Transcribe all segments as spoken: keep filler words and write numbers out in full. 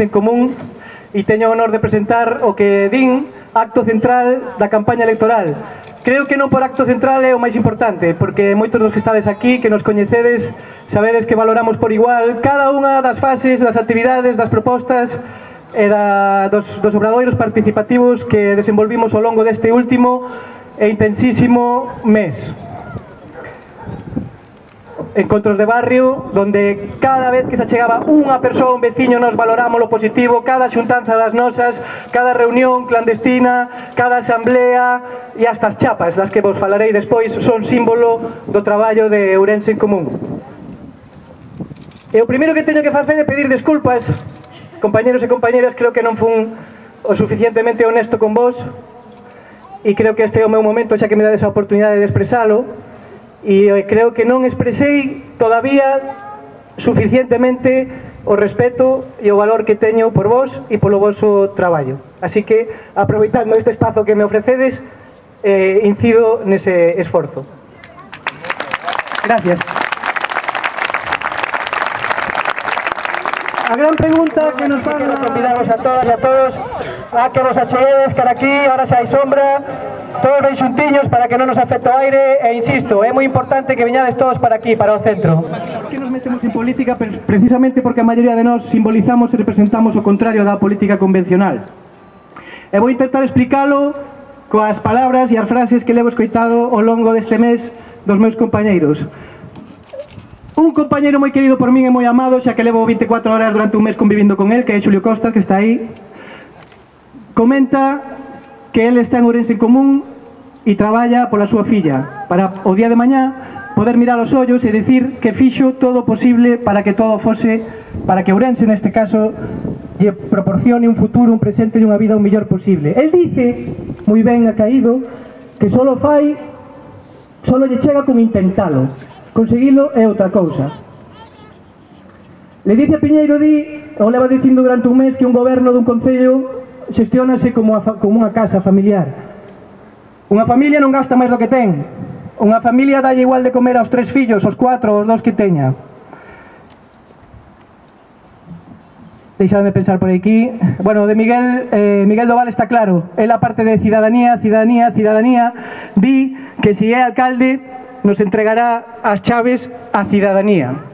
En Común, e teño o honor de presentar o que din acto central da campaña electoral. Creo que non por acto central é o máis importante, porque moitos dos que estades aquí, que nos coñecedes, sabedes que valoramos por igual cada unha das fases, das actividades, das propostas e da, dos, dos obradoiros participativos que desenvolvimos ao longo deste último e intensísimo mes. Encontros de barrio, donde cada vez que se achegaba unha persoa, un veciño, nos valoramos lo positivo, cada xuntanza das nosas, cada reunión clandestina, cada asamblea e hasta as chapas, das que vos falarei despois, son símbolo do traballo de Ourense en Común. E o primeiro que teño que facer é pedir desculpas, compañeros e compañeras, creo que non fun o suficientemente honesto con vos, e creo que este é o meu momento, xa que me dades a oportunidade de expresalo, e creo que non expresei todavía suficientemente o respeto e o valor que teño por vos e polo voso traballo. Así que, aproveitando este espazo que me ofrecedes, eh, incido nese esforzo. Gracias. A gran pregunta que nos fan... Quero convidaros a todas e a todos a que nos acheguedes cara aquí, ahora se hai sombra, todos ben xuntiños para que non nos afecte o aire, e insisto, é moi importante que veñades todos para aquí, para o centro. Que nos metemos en política precisamente porque a maioría de nós simbolizamos e representamos o contrario da política convencional. E vou intentar explicalo coas palabras e as frases que levo escoitado ao longo deste mes dos meus compañeiros. Un compañeiro moi querido por min e moi amado, xa que levo vinte e catro horas durante un mes convivindo con el, que é Xulio Costa, que está aí, comenta que ele está en Ourense en Común e traballa pola súa filla, para o día de mañá poder mirar os ollos e dicir que fixo todo o posible para que todo fose, para que Ourense, neste caso, lle proporcione un futuro, un presente e unha vida o mellor posible. El dice, moi ben acaído, que solo fai, solo lle chega con intentalo. Conseguilo é outra cousa. Ledicia Piñeiro di, ou leva dicindo durante un mes, que un goberno dun concello xestionase como, a, como unha casa familiar. Unha familia non gasta máis do que ten. Unha familia dalle igual de comer aos tres fillos, aos cuatro, aos dos que teña. Deixadme pensar por aquí. Bueno, de Miguel, eh, Miguel Doval está claro. Él, aparte de cidadanía, cidadanía, cidadanía, di que si é alcalde nos entregará as chaves á cidadanía.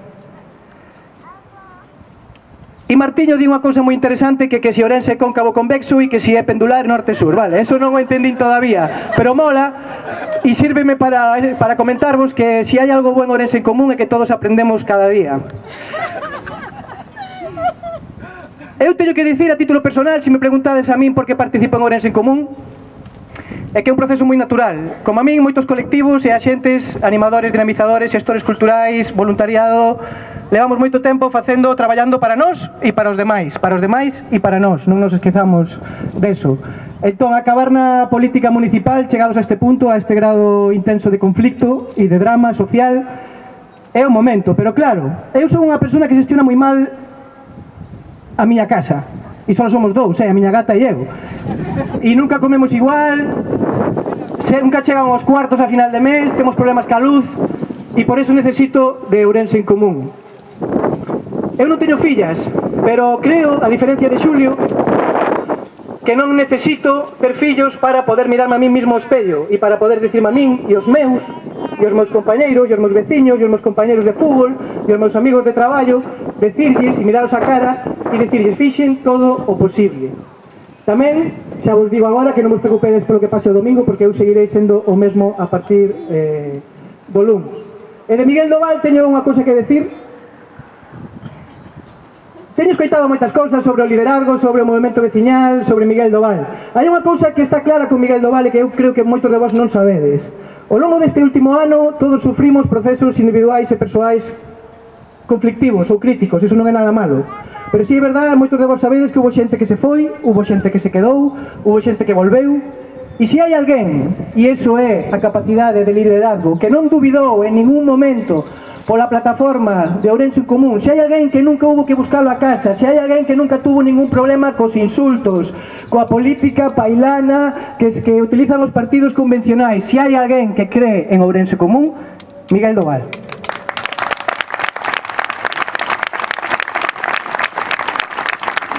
E Martiño di unha cousa moi interesante, que que si Ourense é cóncavo convexo e que si é pendular norte-sur. Vale, eso non o entendín todavía, pero mola e sírveme para, para comentarvos que si hai algo bo en Ourense en Común é que todos aprendemos cada día. Eu teño que dicir a título personal, se me preguntades a min por que participo en Ourense en Común, é que é un proceso moi natural. Como a min, moitos colectivos e axentes, animadores, dinamizadores, xestores culturais, voluntariado, levamos moito tempo facendo, traballando para nós e para os demais, para os demais e para nós, non nos esquezamos deso. Entón, acabar na política municipal, chegados a este punto, a este grado intenso de conflicto e de drama social, é o momento, pero claro, eu son unha persona que gestiona moi mal a miña casa, e só somos dous, eh, a miña gata e eu, e nunca comemos igual, se nunca chegan aos cuartos a final de mes, temos problemas ca luz, e por eso necesito de Ourense en Común. Eu non teño fillas, pero creo, a diferencia de Xulio, que non necesito ter fillos para poder mirarme a mí mismo ao espello e para poder dicirme a min e os meus e os meus compañeiros e os meus veciños e os meus compañeiros de fútbol e os meus amigos de traballo, decirlles e miraros a cara e decirlles fixen todo o posible. Tamén, xa vos digo agora que non vos preocupedes polo que pase o domingo, porque eu seguirei sendo o mesmo a partir eh, do lunes. E de Miguel Doval teño unha cousa que decir. Teño escoitado moitas cousas sobre o liderazgo, sobre o movimento veciñal, sobre Miguel Doval. Hai unha cousa que está clara con Miguel Doval e que eu creo que moitos de vos non sabedes. Ao longo deste último ano todos sufrimos procesos individuais e persoais conflictivos ou críticos, iso non é nada malo. Pero si é verdade, moitos de vos sabedes que hubo xente que se foi, hubo xente que se quedou, hubo xente que volveu. E se hai alguén, e iso é a capacidade de liderazgo, que non dubidou en ningún momento pola plataforma de Ourense en Común, se hai alguén que nunca hubo que buscarlo a casa, se hai alguén que nunca tuvo ningún problema cos insultos, coa política pailana que, que utilizan os partidos convencionais, se hai alguén que cree en Ourense Común, Miguel Doval.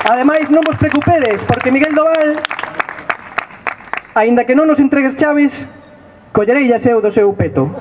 Ademais, non vos preocupedes, porque Miguel Doval, aínda que non nos entregues chaves, collerei eu do seu peto.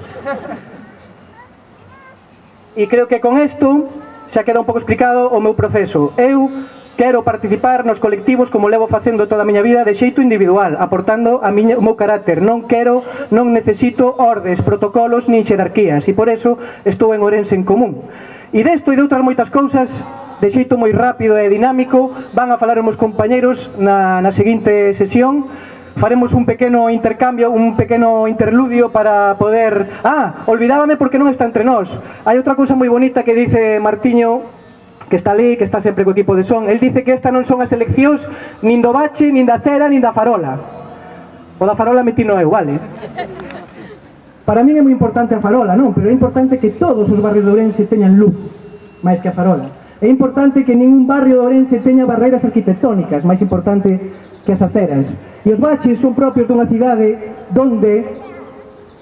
E creo que con isto xa queda un pouco explicado o meu proceso. Eu quero participar nos colectivos como levo facendo toda a miña vida de xeito individual, aportando a miña, o meu carácter. Non quero, non necesito ordes, protocolos nin xerarquías, e por eso estou en Ourense en Común. E desto e de outras moitas cousas, de xeito moi rápido e dinámico, van a falar os meus compañeiros na, na seguinte sesión. Faremos un pequeno intercambio, un pequeno interludio para poder... Ah, olvidábame porque non está entre nós. Hai outra cousa moi bonita que dice Martiño, que está ali, que está sempre co equipo de son. El dice que esta non son as eleccións nin do bache, nin da cera, nin da farola. O da farola metino eu, vale? Para mí é moi importante a farola, non? Pero é importante que todos os barrios de Ourense teñan luz, máis que a farola. É importante que ningún barrio de Ourense teña barreiras arquitectónicas, máis importante que as aceras. E os baches son propios dunha cidade donde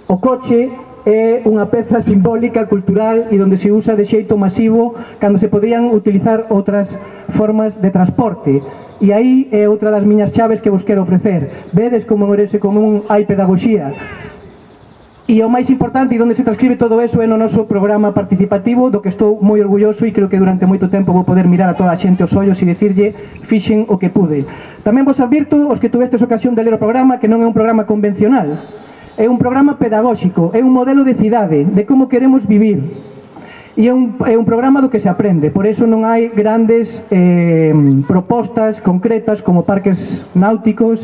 o coche é unha peza simbólica, cultural e donde se usa de xeito masivo cando se podían utilizar outras formas de transporte. E aí é outra das miñas chaves que vos quero ofrecer. Vedes como en Ourense Común hai pedagogía. E o máis importante e onde se transcribe todo eso é no noso programa participativo, do que estou moi orgulloso e creo que durante moito tempo vou poder mirar a toda a xente os ollos e dicirlle fixen o que pude. Tamén vos advirto, os que tuvestes ocasión de ler o programa, que non é un programa convencional, é un programa pedagóxico, é un modelo de cidade, de como queremos vivir. E é un, é un programa do que se aprende, por eso non hai grandes eh, propostas concretas como parques náuticos,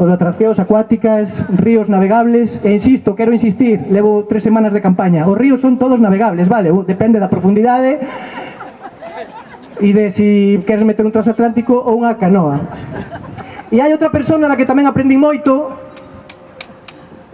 ou de atraccións acuáticas, ríos navegables, e insisto, quero insistir, levo tres semanas de campaña, os ríos son todos navegables, vale, depende da profundidade e de si queres meter un transatlántico ou unha canoa. E hai outra persona na que tamén aprendi moito,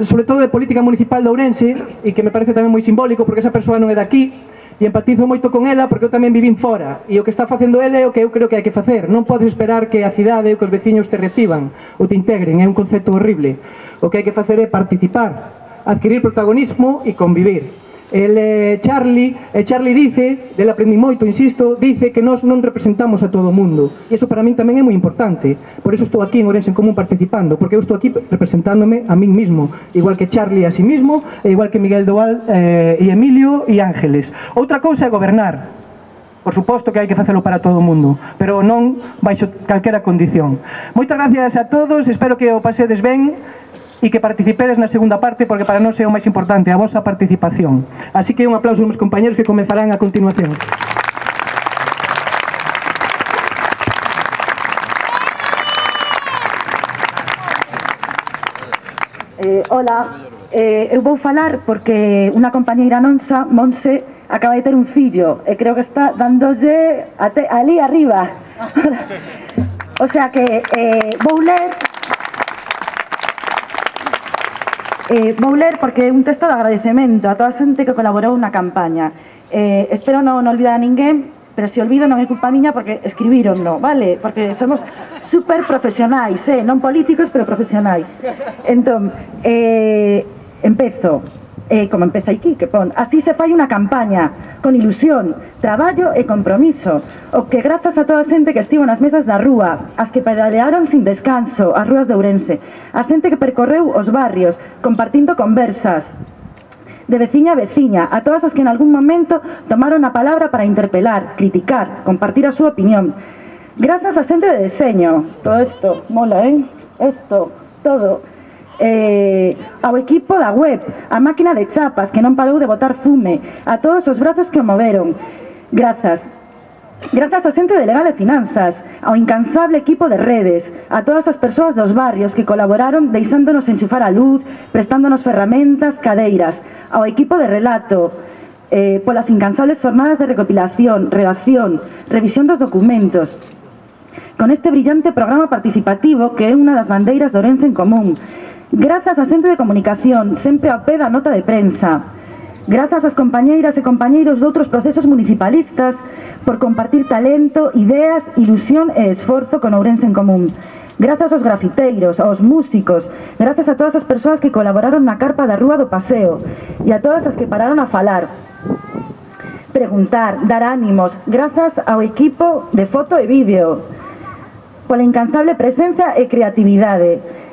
sobre todo de política municipal de Ourense, e que me parece tamén moi simbólico, porque esa persoa non é daqui, e empatizo moito con ela porque eu tamén vivín fora, e o que está facendo ele é o que eu creo que hai que facer. Non podes esperar que a cidade ou que os veciños te reciban ou te integren, é un concepto horrible. O que hai que facer é participar, adquirir protagonismo e convivir. El eh, Charlie, eh, Charlie dice, del aprendí moito, insisto, dice que nós non representamos a todo o mundo, e iso para min tamén é moi importante. Por eso estou aquí en Ourense en Común participando, porque eu estou aquí representándome a min mismo, igual que Charlie a sí mismo, e igual que Miguel Doval eh, e Emilio e Ángeles. Outra cousa é gobernar. Por suposto que hai que facelo para todo o mundo, pero non baixo calquera condición. Moitas gracias a todos, espero que o pasedes ben e que participedes na segunda parte, porque para nós é o máis importante, a vosa participación. Así que un aplauso aos meus compañeros que comezarán a continuación. Eh, hola, eh, eu vou falar porque unha compañeira nosa, Monse, acaba de ter un fillo e creo que está dándolle até ali arriba. O sea que eh, vou ler Eh, vou ler porque é un texto de agradecemento a toda a xente que colaborou na campaña. Eh, espero non, non olvidar a ninguén, pero se olvido non é culpa miña porque escribíronlo, vale? Porque somos super profesionais, eh? Non políticos, pero profesionais. Entón, eh, empezo, eh, como empeza aquí, que pon, así se fai unha campaña, con ilusión, traballo e compromiso, o que grazas a toda a xente que estivo nas mesas da rúa, as que pedalearon sin descanso, as rúas de Ourense, a xente que percorreu os barrios, compartindo conversas, de veciña a veciña, a todas as que en algún momento tomaron a palabra para interpelar, criticar, compartir a súa opinión. Grazas a xente de deseño, todo isto, mola, eh? Isto, todo. Eh, ao equipo da web, a máquina de chapas que non parou de botar fume, a todos os brazos que o moveron. Grazas. Grazas a xente de Legal e Finanzas, ao incansable equipo de redes, a todas as persoas dos barrios que colaboraron deixándonos enchufar a luz, prestándonos ferramentas, cadeiras, ao equipo de relato, eh, polas incansables jornadas de recopilación, redacción, revisión dos documentos, con este brillante programa participativo que é unha das bandeiras de Ourense en Común. Grazas a xente de comunicación, sempre ao pé da nota de prensa. Grazas ás compañeiras e compañeiros de outros procesos municipalistas por compartir talento, ideas, ilusión e esforzo con Ourense en Común. Grazas aos grafiteiros, aos músicos, grazas a todas as persoas que colaboraron na carpa da Rúa do Paseo e a todas as que pararon a falar, preguntar, dar ánimos, grazas ao equipo de foto e vídeo, pola incansable presencia e creatividade.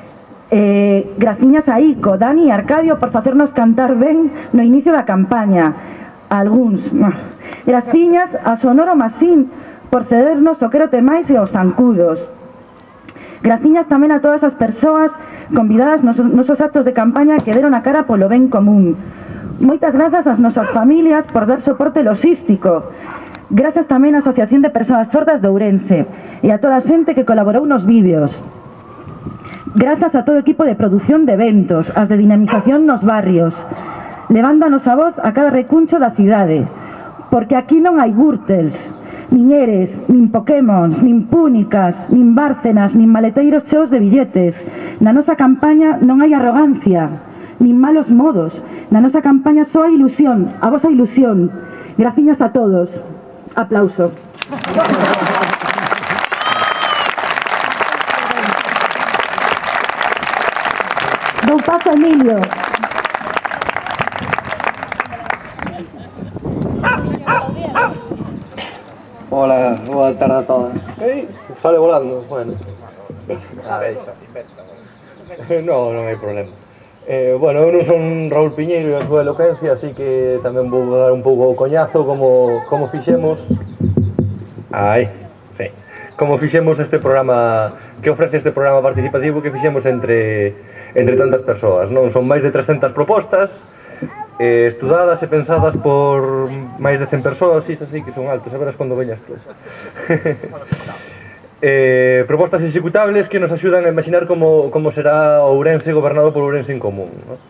Eh, graciñas a Ico, Dani e Arcadio por facernos cantar ben no inicio da campaña. A algúns. Graciñas a Sonoro Masín por cedernos o Quérote Máis e os zancudos. Graciñas tamén a todas as persoas convidadas nos nosos actos de campaña que deron a cara polo ben común. Moitas grazas ás nosas familias por dar soporte logístico. Grazas tamén á Asociación de Persoas Sordas de Ourense e a toda a xente que colaborou nos vídeos. Grazas a todo o equipo de produción de eventos, as de dinamización nos barrios, levando a nosa voz a cada recuncho da cidade, porque aquí non hai Gürtels, nin Eres, nin Pokémons, nin Púnicas, nin Bárcenas, nin maleteiros cheos de billetes. Na nosa campaña non hai arrogancia, nin malos modos. Na nosa campaña só hai ilusión, a vosa ilusión. Graciñas a todos. Aplauso. Dou paso a Emilio. Hola, boa tarde a todas. Ei, sale volando, bueno. A ver, no, non hai problema. Eh, bueno, eu non son Raúl Piñeiro e a súa eloquencia, así que tamén vou dar un pouco o coñazo como, como fixemos. Ai, sí. Como fixemos este programa, que ofrece este programa participativo que fixemos entre, entre tantas persoas, non? Son máis de trescentas propostas, eh, estudadas e pensadas por máis de cen persoas, e así que son altos, a verás cando veñas tú. eh, propostas executables que nos axudan a imaginar como, como será Ourense gobernado por Ourense en Común, ¿no?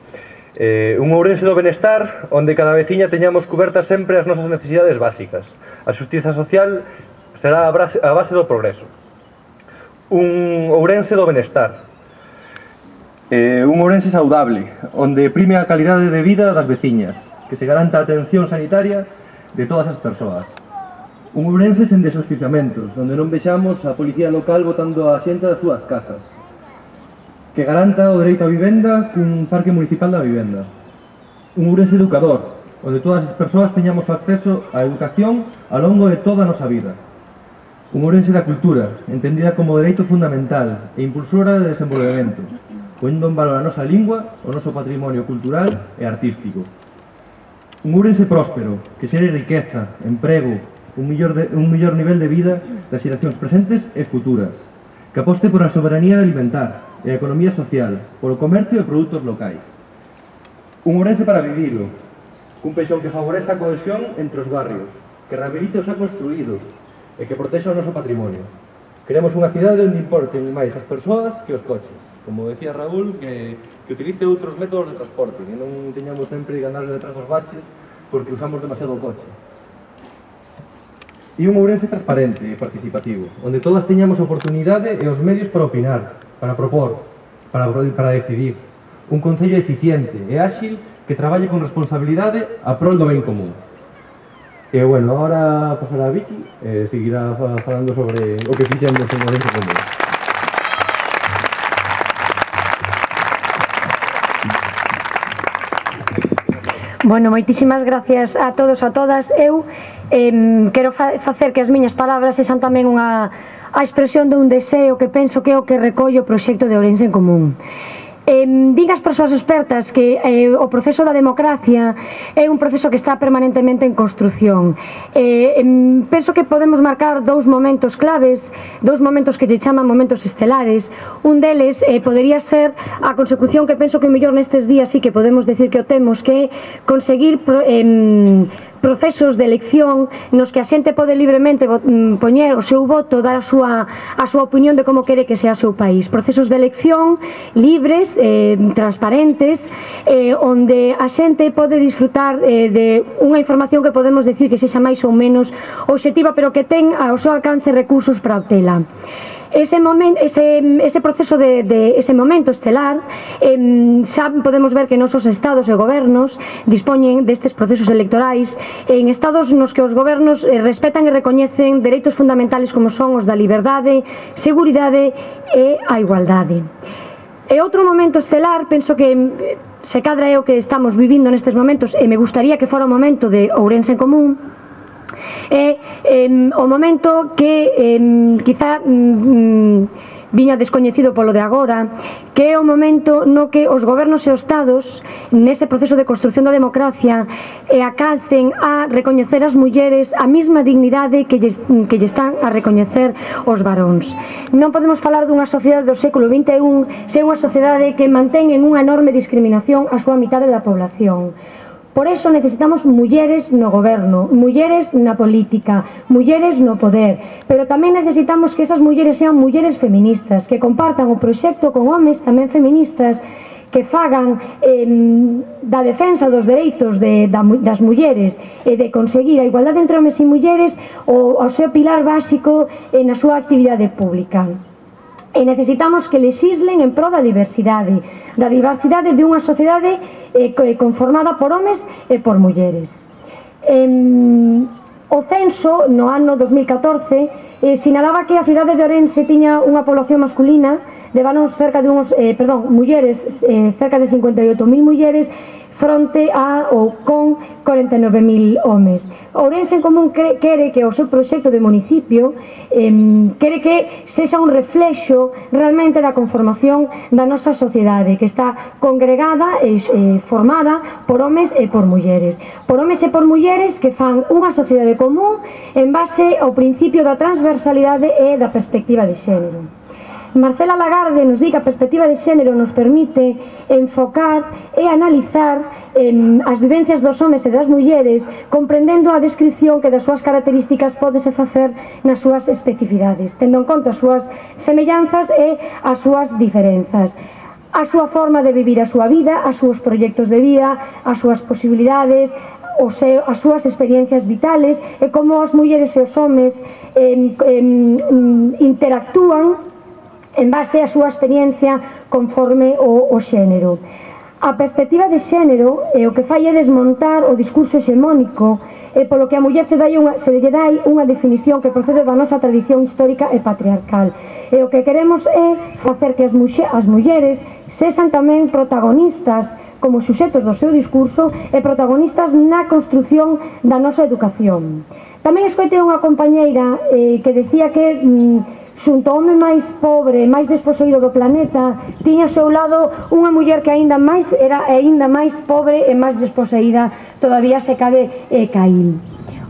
Eh, un Ourense do benestar onde cada veciña teñamos cubertas sempre as nosas necesidades básicas. A xustiza social será a base, a base do progreso. Un Ourense do benestar. Eh, un Ourense saudable, onde prime a calidade de vida das veciñas, que se garanta a atención sanitaria de todas as persoas. Un Ourense sen desoficiamentos, onde non vexamos a policía local botando a xente das súas casas. Que garanta o dereito á vivenda cun parque municipal da vivenda. Un Ourense educador, onde todas as persoas teñamos acceso á educación ao longo de toda a nosa vida. Un Ourense da cultura, entendida como dereito fundamental e impulsora de desenvolvemento, poñendo en valor a nosa lingua, o noso patrimonio cultural e artístico. Un Ourense próspero, que xere riqueza, emprego, un millor, de, un millor nivel de vida das xeracións presentes e futuras, que aposte por a soberanía alimentar e a economía social, polo comercio e produtos locais. Un Ourense para vivilo, cun peixón que favoreza a cohesión entre os barrios, que rehabilite os xa construídos e que protexa o noso patrimonio. Queremos unha cidade onde importen máis as persoas que os coches. Como decía Raúl, que, que utilice outros métodos de transporte, que non teñamos sempre que andar detrás dos baches porque usamos demasiado coche. E un Ourense transparente e participativo, onde todas teñamos oportunidade e os medios para opinar, para propor, para, para decidir. un concello eficiente e áxil que traballe con responsabilidade a prol do ben común. E, bueno, agora pasará a Vicky e seguirá falando sobre o que fixemos en Ourense Común. Bueno, moitísimas gracias a todos e a todas. Eu eh, quero fa facer que as miñas palabras sexan tamén unha a expresión de un deseo que penso que é o que recolle o proxecto de Ourense en Común. Eh, din as persoas expertas que eh, o proceso da democracia é un proceso que está permanentemente en construción. Eh, eh, penso que podemos marcar dous momentos claves, dous momentos que lle chaman momentos estelares. Un deles eh, podería ser a consecución que penso que mellor nestes días sí que podemos decir que o temos, que é conseguir eh, procesos de elección nos que a xente pode libremente poñer o seu voto, dar a súa, a súa opinión de como quere que sea o seu país. Procesos de elección libres, eh, transparentes, eh, onde a xente pode disfrutar eh, de unha información que podemos decir que sexa máis ou menos obxectiva, pero que ten ao seu alcance recursos para obtela. Ese, momento, ese, ese proceso de, de ese momento estelar eh, xa podemos ver que nosos estados e gobernos dispoñen destes procesos electorais en estados nos que os gobernos eh, respetan e recoñecen dereitos fundamentales como son os da liberdade, seguridade e a igualdade. E outro momento estelar, penso que se cadra é o que estamos vivindo nestes momentos e me gustaría que fora o momento de Ourense en Común, é eh, o momento que eh, quizá mm, viña descoñecido polo de agora, que é o momento no que os gobernos e os estados nese proceso de construción da democracia e acalcen a recoñecer as mulleres a mesma dignidade que lle, que lle están a recoñecer os varóns. Non podemos falar dunha sociedade do século vinte e un se unha sociedade que mantén en unha enorme discriminación a súa mitade da población. Por eso necesitamos mulleres no goberno, mulleres na política, mulleres no poder, pero tamén necesitamos que esas mulleres sean mulleres feministas, que compartan o proxecto con homes tamén feministas, que fagan eh, da defensa dos dereitos de, da, das mulleres e de conseguir a igualdade entre homes e mulleres o, o seu pilar básico eh, na súa actividade pública. E necesitamos que legislen en pro da diversidade, da diversidade de unha sociedade eh, conformada por homes e por mulleres. Eh, o censo no ano dos mil catorce eh, sinalaba que a cidade de Ourense tiña unha población masculina de varóns cerca de uns, eh, perdón, mulleres, eh, cerca de cincuenta e oito mil mulleres fronte a ou con corenta e nove mil homes. Ourense en Común quere que o seu proxecto de municipio eh, quere que sexa un reflexo realmente da conformación da nosa sociedade, que está congregada e eh, formada por homes e por mulleres. Por homes e por mulleres que fan unha sociedade común en base ao principio da transversalidade e da perspectiva de xénero. Marcela Lagarde nos di que a perspectiva de xénero nos permite enfocar e analizar eh, as vivencias dos homes e das mulleres, comprendendo a descripción que das súas características pódese facer nas súas especificidades, tendo en conta as súas semellanzas e as súas diferenzas. A súa forma de vivir a súa vida, as súas proxectos de vida, as súas posibilidades, o seu, as súas experiencias vitales e como as mulleres e os homes eh, eh, interactúan en base á súa experiencia conforme o, o xénero. A perspectiva de xénero é o que fai é desmontar o discurso hexemónico e polo que a muller se, dai unha, se lle dai unha definición que procede da nosa tradición histórica e patriarcal. E o que queremos é facer que as, muxe, as mulleres sexan tamén protagonistas como suxetos do seu discurso e protagonistas na construción da nosa educación. Tamén escoitei unha compañeira eh, que decía que mm, xunto ao home máis pobre, máis desposeído do planeta, tiña ao seu lado unha muller que aínda máis era aínda máis pobre e máis desposeída todavía se cabe eh, Caín.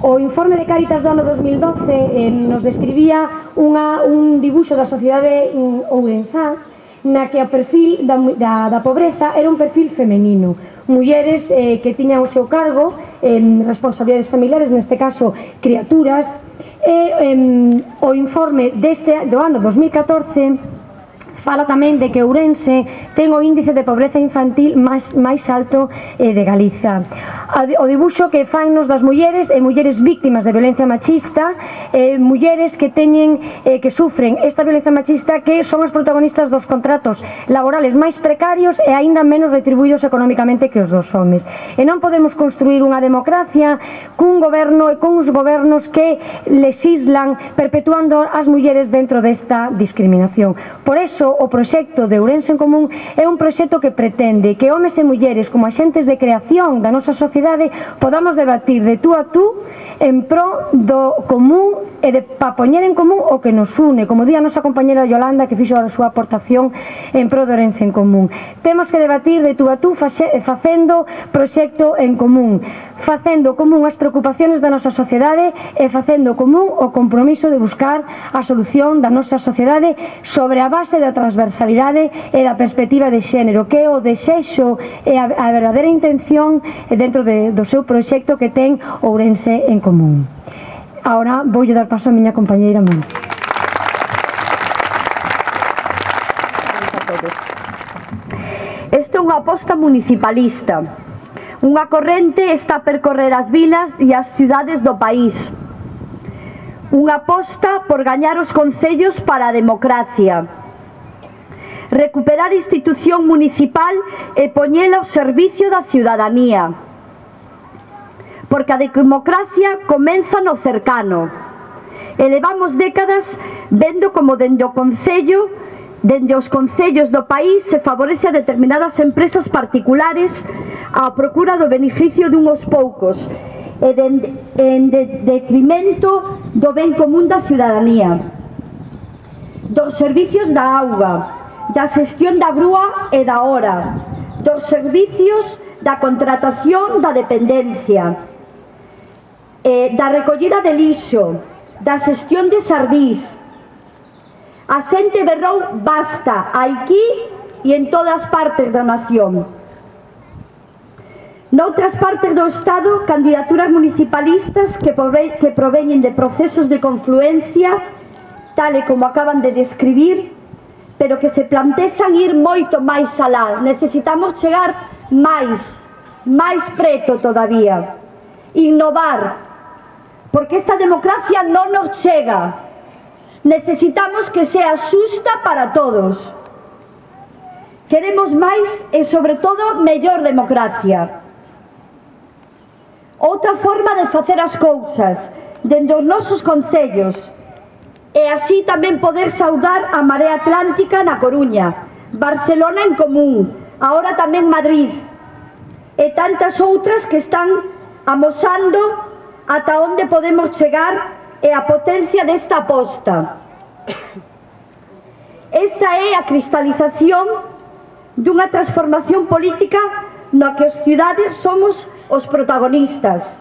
O informe de Cáritas do ano dos mil doce eh, nos describía unha, un dibuixo da sociedade ourensá na que o perfil da, da, da pobreza era un perfil femenino. Mulleres eh, que tiñan o seu cargo eh, responsabilidades familiares, neste caso criaturas. E eh, o informe deste do ano dos mil catorce fala tamén de que Ourense ten o índice de pobreza infantil máis, máis alto eh, de Galiza. O dibuixo que fannos das mulleres e mulleres víctimas de violencia machista, eh, mulleres que teñen eh, que sufren esta violencia machista, que son as protagonistas dos contratos laborales máis precarios e aínda menos retribuídos económicamente que os dos homes. E non podemos construir unha democracia cun goberno e cuns gobernos que legislan perpetuando as mulleres dentro desta discriminación. Por eso, o proxecto de Ourense en Común é un proxecto que pretende que homes e mulleres como axentes de creación da nosa sociedade podamos debatir de tú a tú en pro do común e de pa poñer en común o que nos une, como di a nosa compañera Yolanda, que fixo a súa aportación en pro de Ourense en Común. Temos que debatir de tú a tú facendo proxecto en común, facendo común as preocupaciones da nosa sociedade e facendo común o compromiso de buscar a solución da nosa sociedade sobre a base da transversalidade e da perspectiva de xénero, que é o desexo e a, a verdadeira intención dentro de, do seu proxecto que ten Ourense en Común. Ahora voulle dar paso a miña compañeira Monse. Isto é unha aposta municipalista. Unha corrente está a percorrer as vilas e as cidades do país. Unha aposta por gañar os concellos para a democracia. Recuperar a institución municipal e poñela ao servicio da ciudadanía. Porque a democracia comeza no cercano. E levamos décadas vendo como dende o concello, dende os concellos do país, se favorece a determinadas empresas particulares á procura do beneficio dunhos poucos e de, en de, detrimento do ben común da ciudadanía, dos servicios da auga, da xestión da grúa e da hora, dos servicios da contratación da dependencia, eh, da recollida de lixo, da xestión de sardís. A xente berrou basta aquí e en todas partes da nación. Noutras partes do Estado, candidaturas municipalistas que, prove que proveñen de procesos de confluencia, tal e como acaban de describir, pero que se plantexan ir moito máis alá. Necesitamos chegar máis, máis preto todavía. Innovar, porque esta democracia non nos chega. Necesitamos que sea xusta para todos. Queremos máis e, sobre todo, mellor democracia. Outra forma de facer as cousas dende os nosos concellos e así tamén poder saudar a Marea Atlántica na Coruña, Barcelona en Común, agora tamén Madrid e tantas outras que están amosando ata onde podemos chegar e a potencia desta aposta. Esta é a cristalización dunha transformación política na que as cidades somos os protagonistas.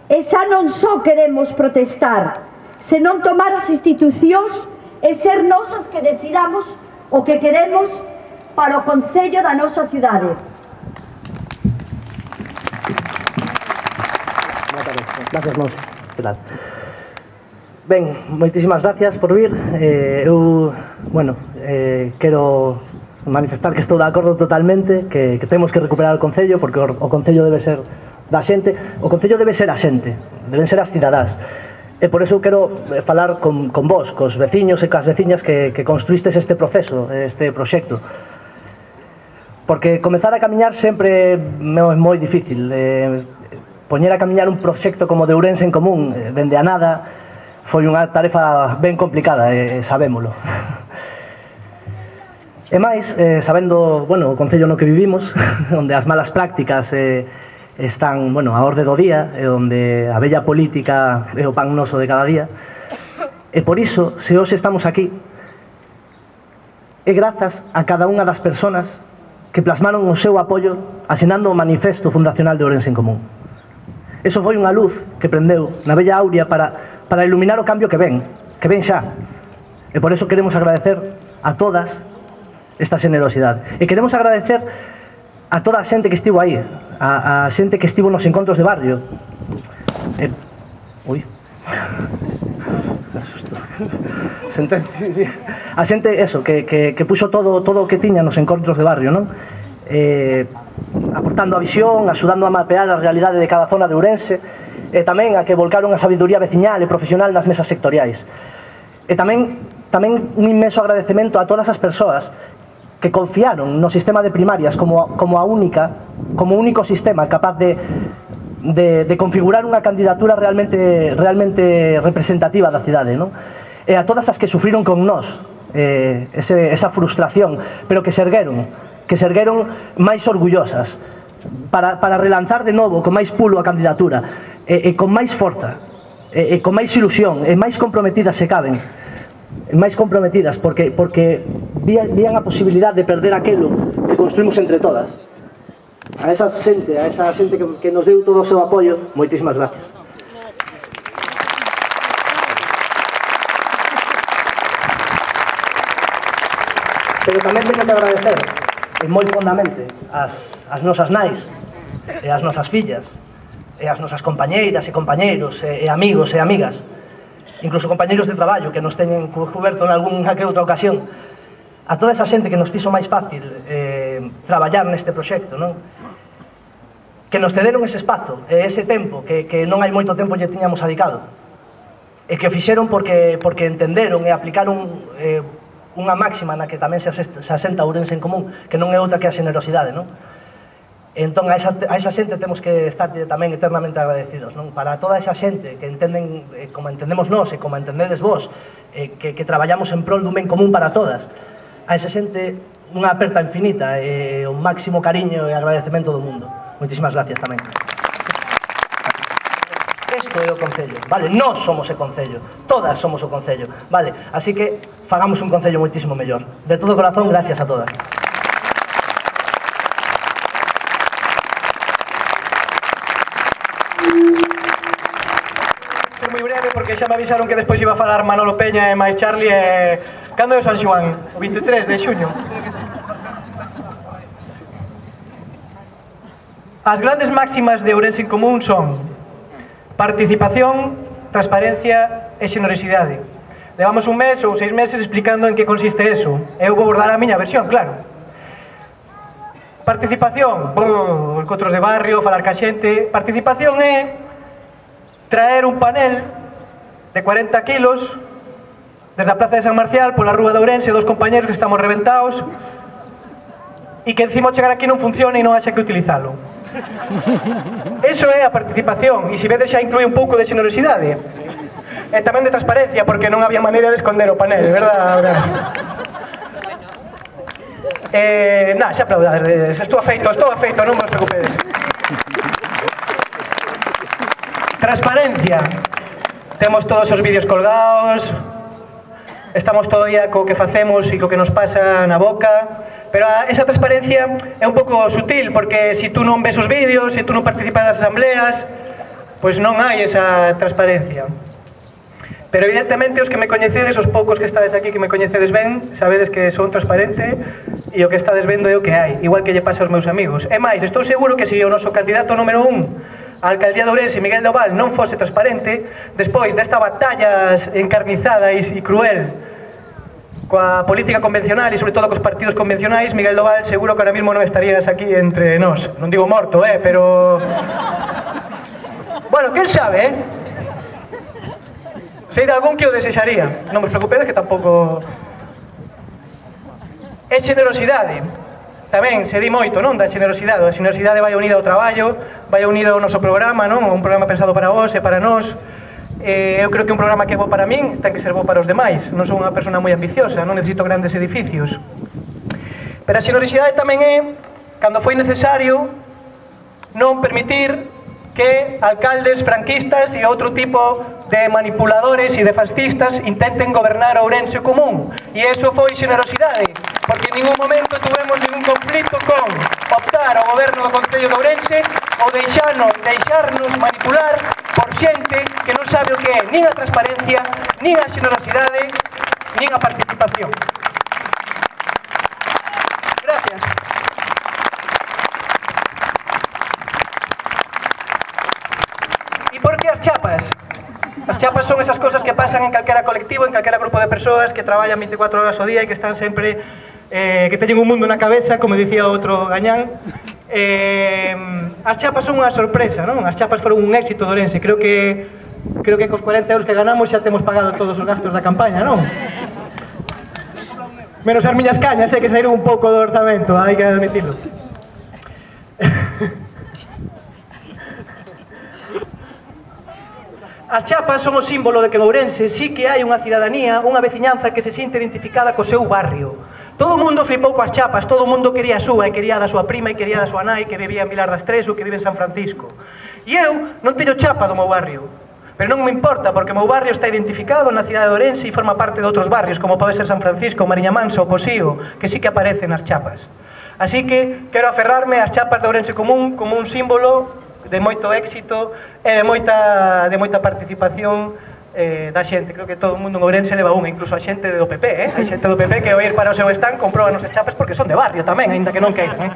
E xa non só queremos protestar, senón tomar as institucións e ser nosas que decidamos o que queremos para o concello da nosa cidade. Gracias, Monse. Que tal? Ben, moitísimas gracias por vir. Eh, eu, bueno, eh, quero manifestar que estou de acordo totalmente, que, que temos que recuperar o concello, porque o, o concello debe ser da xente, o concello debe ser a xente, deben ser as cidadás. E por eso quero falar con, con vos, cos veciños e cas veciñas que, que construístes este proceso, este proxecto. Porque comezar a camiñar sempre é moi difícil. Eh, poñer a camiñar un proxecto como de Ourense en Común, eh, dende a nada, foi unha tarefa ben complicada, eh, sabémolo. E máis, eh, sabendo, bueno, o concello no que vivimos, onde as malas prácticas eh, están, bueno, a orde do día, e onde a bella política é o pan noso de cada día, e por iso, se hoxe estamos aquí, é grazas a cada unha das persoas que plasmaron o seu apoio asinando o manifesto fundacional de Ourense en Común. Eso foi unha luz que prendeu na bella aurea para, para iluminar o cambio que ven, que ven xa. E por eso queremos agradecer a todas esta generosidade. E queremos agradecer a toda a xente que estivo aí, a, a xente que estivo nos encontros de barrio. E, ui, asusto. Sentencia, sí, sí. a xente, eso, que, que, que puxo todo, todo o que tiña nos encontros de barrio, non? Eh, aportando a visión, axudando a mapear a realidade de cada zona de Ourense, e tamén a que volcaron a sabiduría veciñal e profesional nas mesas sectoriais. E tamén, tamén un inmenso agradecemento a todas as persoas que confiaron no sistema de primarias como, como a única, como único sistema capaz de De, de configurar unha candidatura realmente, realmente representativa da cidade, non? E a todas as que sufriron con nós eh, ese, esa frustración, pero que se ergueron, que se ergueron máis orgullosas para, para relanzar de novo con máis pulo a candidatura e, e con máis forza e, e con máis ilusión e máis comprometidas se caben, máis comprometidas porque, porque vían, vían a posibilidade de perder aquelo que construímos entre todas. A esa xente, a esa xente que, que nos deu todo o seu apoio, moitísimas gracias. Pero tamén teño que agradecer, e moi fondamente, as, as nosas nais, e as nosas fillas, e as nosas compañeiras e compañeiros, e, e amigos e amigas, incluso compañeiros de traballo que nos teñen cuberto en algunha que outra ocasión, a toda esa xente que nos fixo máis fácil eh, traballar neste proxecto, non? Que nos cederon ese espazo e ese tempo que, que non hai moito tempo lle tiñamos adicado e que o fixeron porque, porque entenderon e aplicaron eh, unha máxima na que tamén se asenta, se asenta Ourense en común, que non é outra que a xenerosidade, non? Entón a esa, a esa xente temos que estar tamén eternamente agradecidos, non? Para toda esa xente que entenden eh, como entendemos nós e como entendedes vos, eh, que, que traballamos en prol dun ben común para todas, a esa xente unha aperta infinita e o máximo cariño e agradecemento do mundo. Moitísimas gracias tamén. Isto é o Concello, vale? Nós somos o Concello, todas somos o Concello, vale? Así que fagamos un Concello moitísimo mellor. De todo corazón, gracias a todas. Ser moi breve porque xa me avisaron que despois iba a falar Manolo Peña e máis Charlie e... Cando é o San Xoán? O veintitrés de xuño. As grandes máximas de Ourense en Común son participación, transparencia e xenerosidade. Levamos un mes ou seis meses explicando en que consiste eso. Eu vou dar a miña versión, claro. Participación, bom, encontros de barrio, falar ca xente. Participación é traer un panel de cuarenta kilos desde a Plaza de San Marcial pola Rúa de Ourense, dos compañeros que estamos reventados e que encima chegar aquí non funciona e non haxa que utilizalo. Eso é a participación, e se vedes xa inclui un pouco de xenerosidade e tamén de transparencia, porque non había maneira de esconder o panel, verdad? eh, na, xa aplaudades, estou afeito, estou afeito, non vos preocupedes. Transparencia, temos todos os vídeos colgados, estamos todo día co que facemos e co que nos pasa na boca. Pero esa transparencia é un pouco sutil, porque se tú non ves os vídeos, se tú non participas nas asambleas, pois non hai esa transparencia. Pero evidentemente os que me coñecedes, os poucos que estades aquí que me coñecedes ben, sabedes que son transparente e o que estades vendo é o que hai, igual que lle pasa aos meus amigos. E máis, estou seguro que se o noso candidato número un a alcaldía de Ourense, Miguel Doval, non fose transparente, despois desta batalla encarnizada e cruel coa política convencional e sobre todo cos partidos convencionais, Miguel Doval seguro que ahora mismo non estarías aquí entre nós. Non digo morto, eh, pero... Bueno, quen sabe, eh? Sei de algún que o desexaría. Non vos preocupedes que tampouco... É xenerosidade. Tamén se di moito, non, da xenerosidade. A xenerosidade vai unida ao traballo, vai unida ao noso programa, non? Un programa pensado para vos e para nós. Eh, eu creo que un programa que é bo para min ten que ser bo para os demais. Non sou unha persona moi ambiciosa, non necesito grandes edificios. Pero a xenerosidade tamén é, cando foi necesario, non permitir que alcaldes franquistas e outro tipo de manipuladores e de fascistas intenten gobernar Ourense común. E iso foi xenerosidade, porque en ningún momento tuvemos ningún conflito con optar ao goberno do Concello de Ourense ou deixarnos, deixarnos manipular por xente que non sabe o que é nin a transparencia, nin a xenerosidade, nin a participación. Gracias. E por que as chapas? As chapas son esas cosas que pasan en calquera colectivo, en calquera grupo de persoas que traballan veinticuatro horas ao día e que están sempre, eh, que teñen un mundo na cabeza, como dicía outro gañán. Eh, as chapas son unha sorpresa, non? As chapas foron un éxito de Ourense. Creo que creo que cos cuarenta euros que ganamos xa temos pagado todos os gastos da campaña, non? Menos as miñas cañas, eh, que saíron un pouco do orzamento, hai que admitirlo. As chapas son o símbolo de que en Ourense sí que hai unha cidadanía, unha veciñanza que se sinte identificada co seu barrio. Todo o mundo flipou coas chapas, todo o mundo quería a súa, e quería da súa prima, e quería da súa nai, que vivía en Vilar das Tres ou que vive en San Francisco. E eu non teño chapa do meu barrio, pero non me importa, porque o meu barrio está identificado na cidade de Ourense e forma parte de outros barrios, como pode ser San Francisco, Mariña Mansa ou Posío, que sí que aparecen nas chapas. Así que quero aferrarme ás chapas de Ourense Común como un símbolo de moito éxito e de moita, de moita participación eh, da xente. Creo que todo o mundo en Ourense leva unha, incluso a xente do P P, eh? A xente do P P que ao ir para o seu stand comproban os chapas porque son de barrio tamén, aínda que non queiran, eh?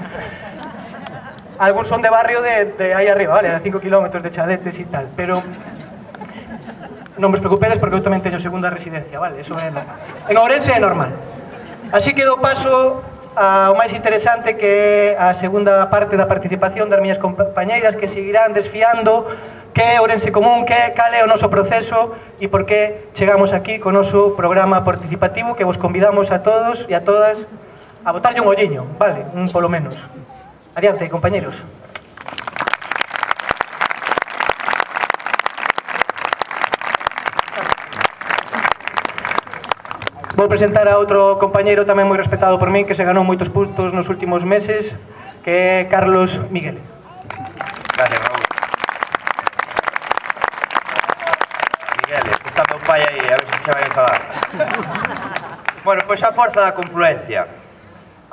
Algúns son de barrio de, de aí arriba, vale, a cinco kilómetros de Chadetes e tal, pero non vos preocupedes porque eu tamén teño segunda residencia, vale, eso é normal. En Ourense é normal. Así que dou paso ao máis interesante, que é a segunda parte da participación das miñas compañeiras, que seguirán desfiando que é Ourense Común, que cal é o noso proceso e por que chegamos aquí co noso programa participativo, que vos convidamos a todos e a todas a botarlle un olliño, vale, un polo menos. Adiante, compañeros. Vou presentar a outro compañeiro tamén moi respetado por min, que se ganou moitos puntos nos últimos meses, que é Carlos Miguel. Gracias, Raúl. Miguel, está meu pai aí, a ver se se vai enfadar. Bueno, pois a forza da confluencia.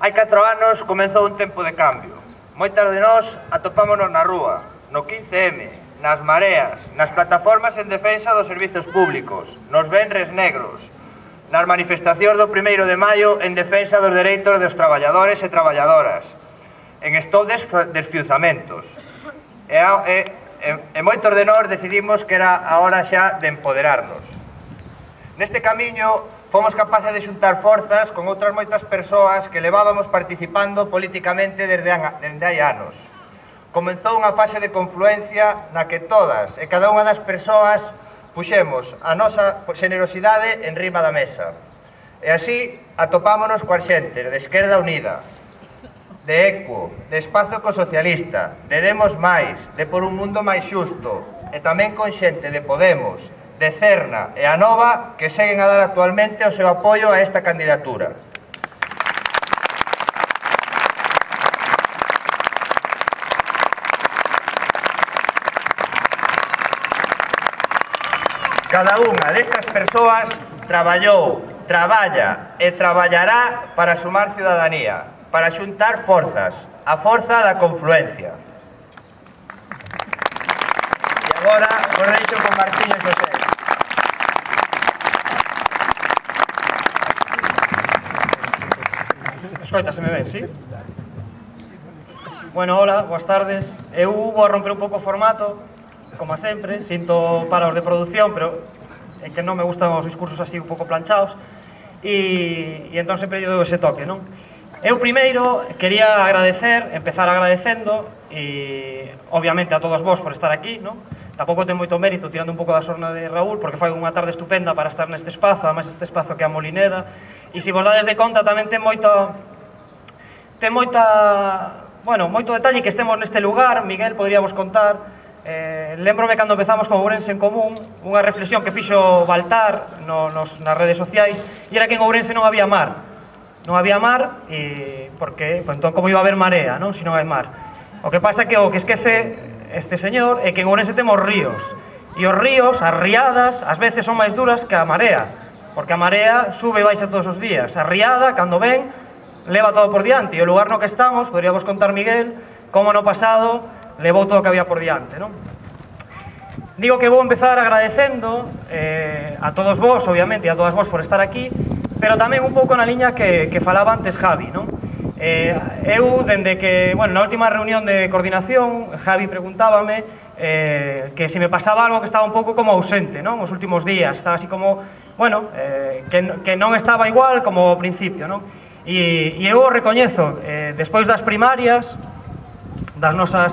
Hai catro anos comenzou un tempo de cambio. Moitas de nós atopámonos na rúa, no quince eme, nas mareas, nas plataformas en defensa dos servizos públicos, nos venres negros, nas manifestacións do primeiro de maio en defensa dos dereitos dos traballadores e traballadoras, en estou desfiuzamentos. E, e, e, e moitos de nós decidimos que era a hora xa de empoderarnos. Neste camiño fomos capaces de xuntar forzas con outras moitas persoas que levábamos participando políticamente desde, desde hai anos. Comenzou unha fase de confluencia na que todas e cada unha das persoas puxemos a nosa xenerosidade en riba da mesa. E así atopámonos coa xente de Esquerda Unida, de Equo, de Espazo Ecosocialista, de Demos Máis, de Por un Mundo Máis Xusto, e tamén con xente de Podemos, de Cerna e Anova, que seguen a dar actualmente o seu apoio a esta candidatura. Cada unha destas persoas traballou, traballa e traballará para sumar ciudadanía, para xuntar forzas, a forza da confluencia. E agora vos deixo con Martiño José. Escoitaseme ben, sí? Bueno, hola, boas tardes. Eu vou a romper un pouco o formato, como sempre, sinto para os de produción, pero é que non me gustan os discursos así un pouco planchados, e, e entón sempre eu ese toque, non? Eu primeiro quería agradecer, empezar agradecendo, e obviamente a todos vos por estar aquí, non? Tampouco ten moito mérito tirando un pouco da sorna de Raúl, porque foi unha tarde estupenda para estar neste espazo, además este espazo que é a Molineda, e se vos dades de conta tamén ten moito, ten moita, bueno, moito detalle que estemos neste lugar. Miguel podría vos contar. Eh, lembrome cando empezamos con Ourense en Común, unha reflexión que fixo Baltar no, nos, nas redes sociais, e era que en Ourense non había mar. Non había mar, e porque, pues, entón, como iba a haber marea, non? Se non hai mar. O que pasa é que o que esquece este señor é que en Ourense temos ríos, e os ríos, as riadas, ás veces son máis duras que a marea, porque a marea sube e baixa todos os días. A riada, cando ven, leva todo por diante, e o lugar no que estamos, podría vos contar, Miguel, como no pasado levou todo o que había por diante, non? Digo que vou empezar agradecendo eh, a todos vos, obviamente, e a todas vos por estar aquí, pero tamén un pouco na liña que, que falaba antes Javi, non? Eh, eu, dende que, bueno, na última reunión de coordinación, Javi preguntábame eh, que si me pasaba algo que estaba un pouco como ausente, non? Os últimos días, estaba así como, bueno, eh, que, que non estaba igual como ao principio, non? E, e eu o recoñezo, eh, despois das primarias, das nosas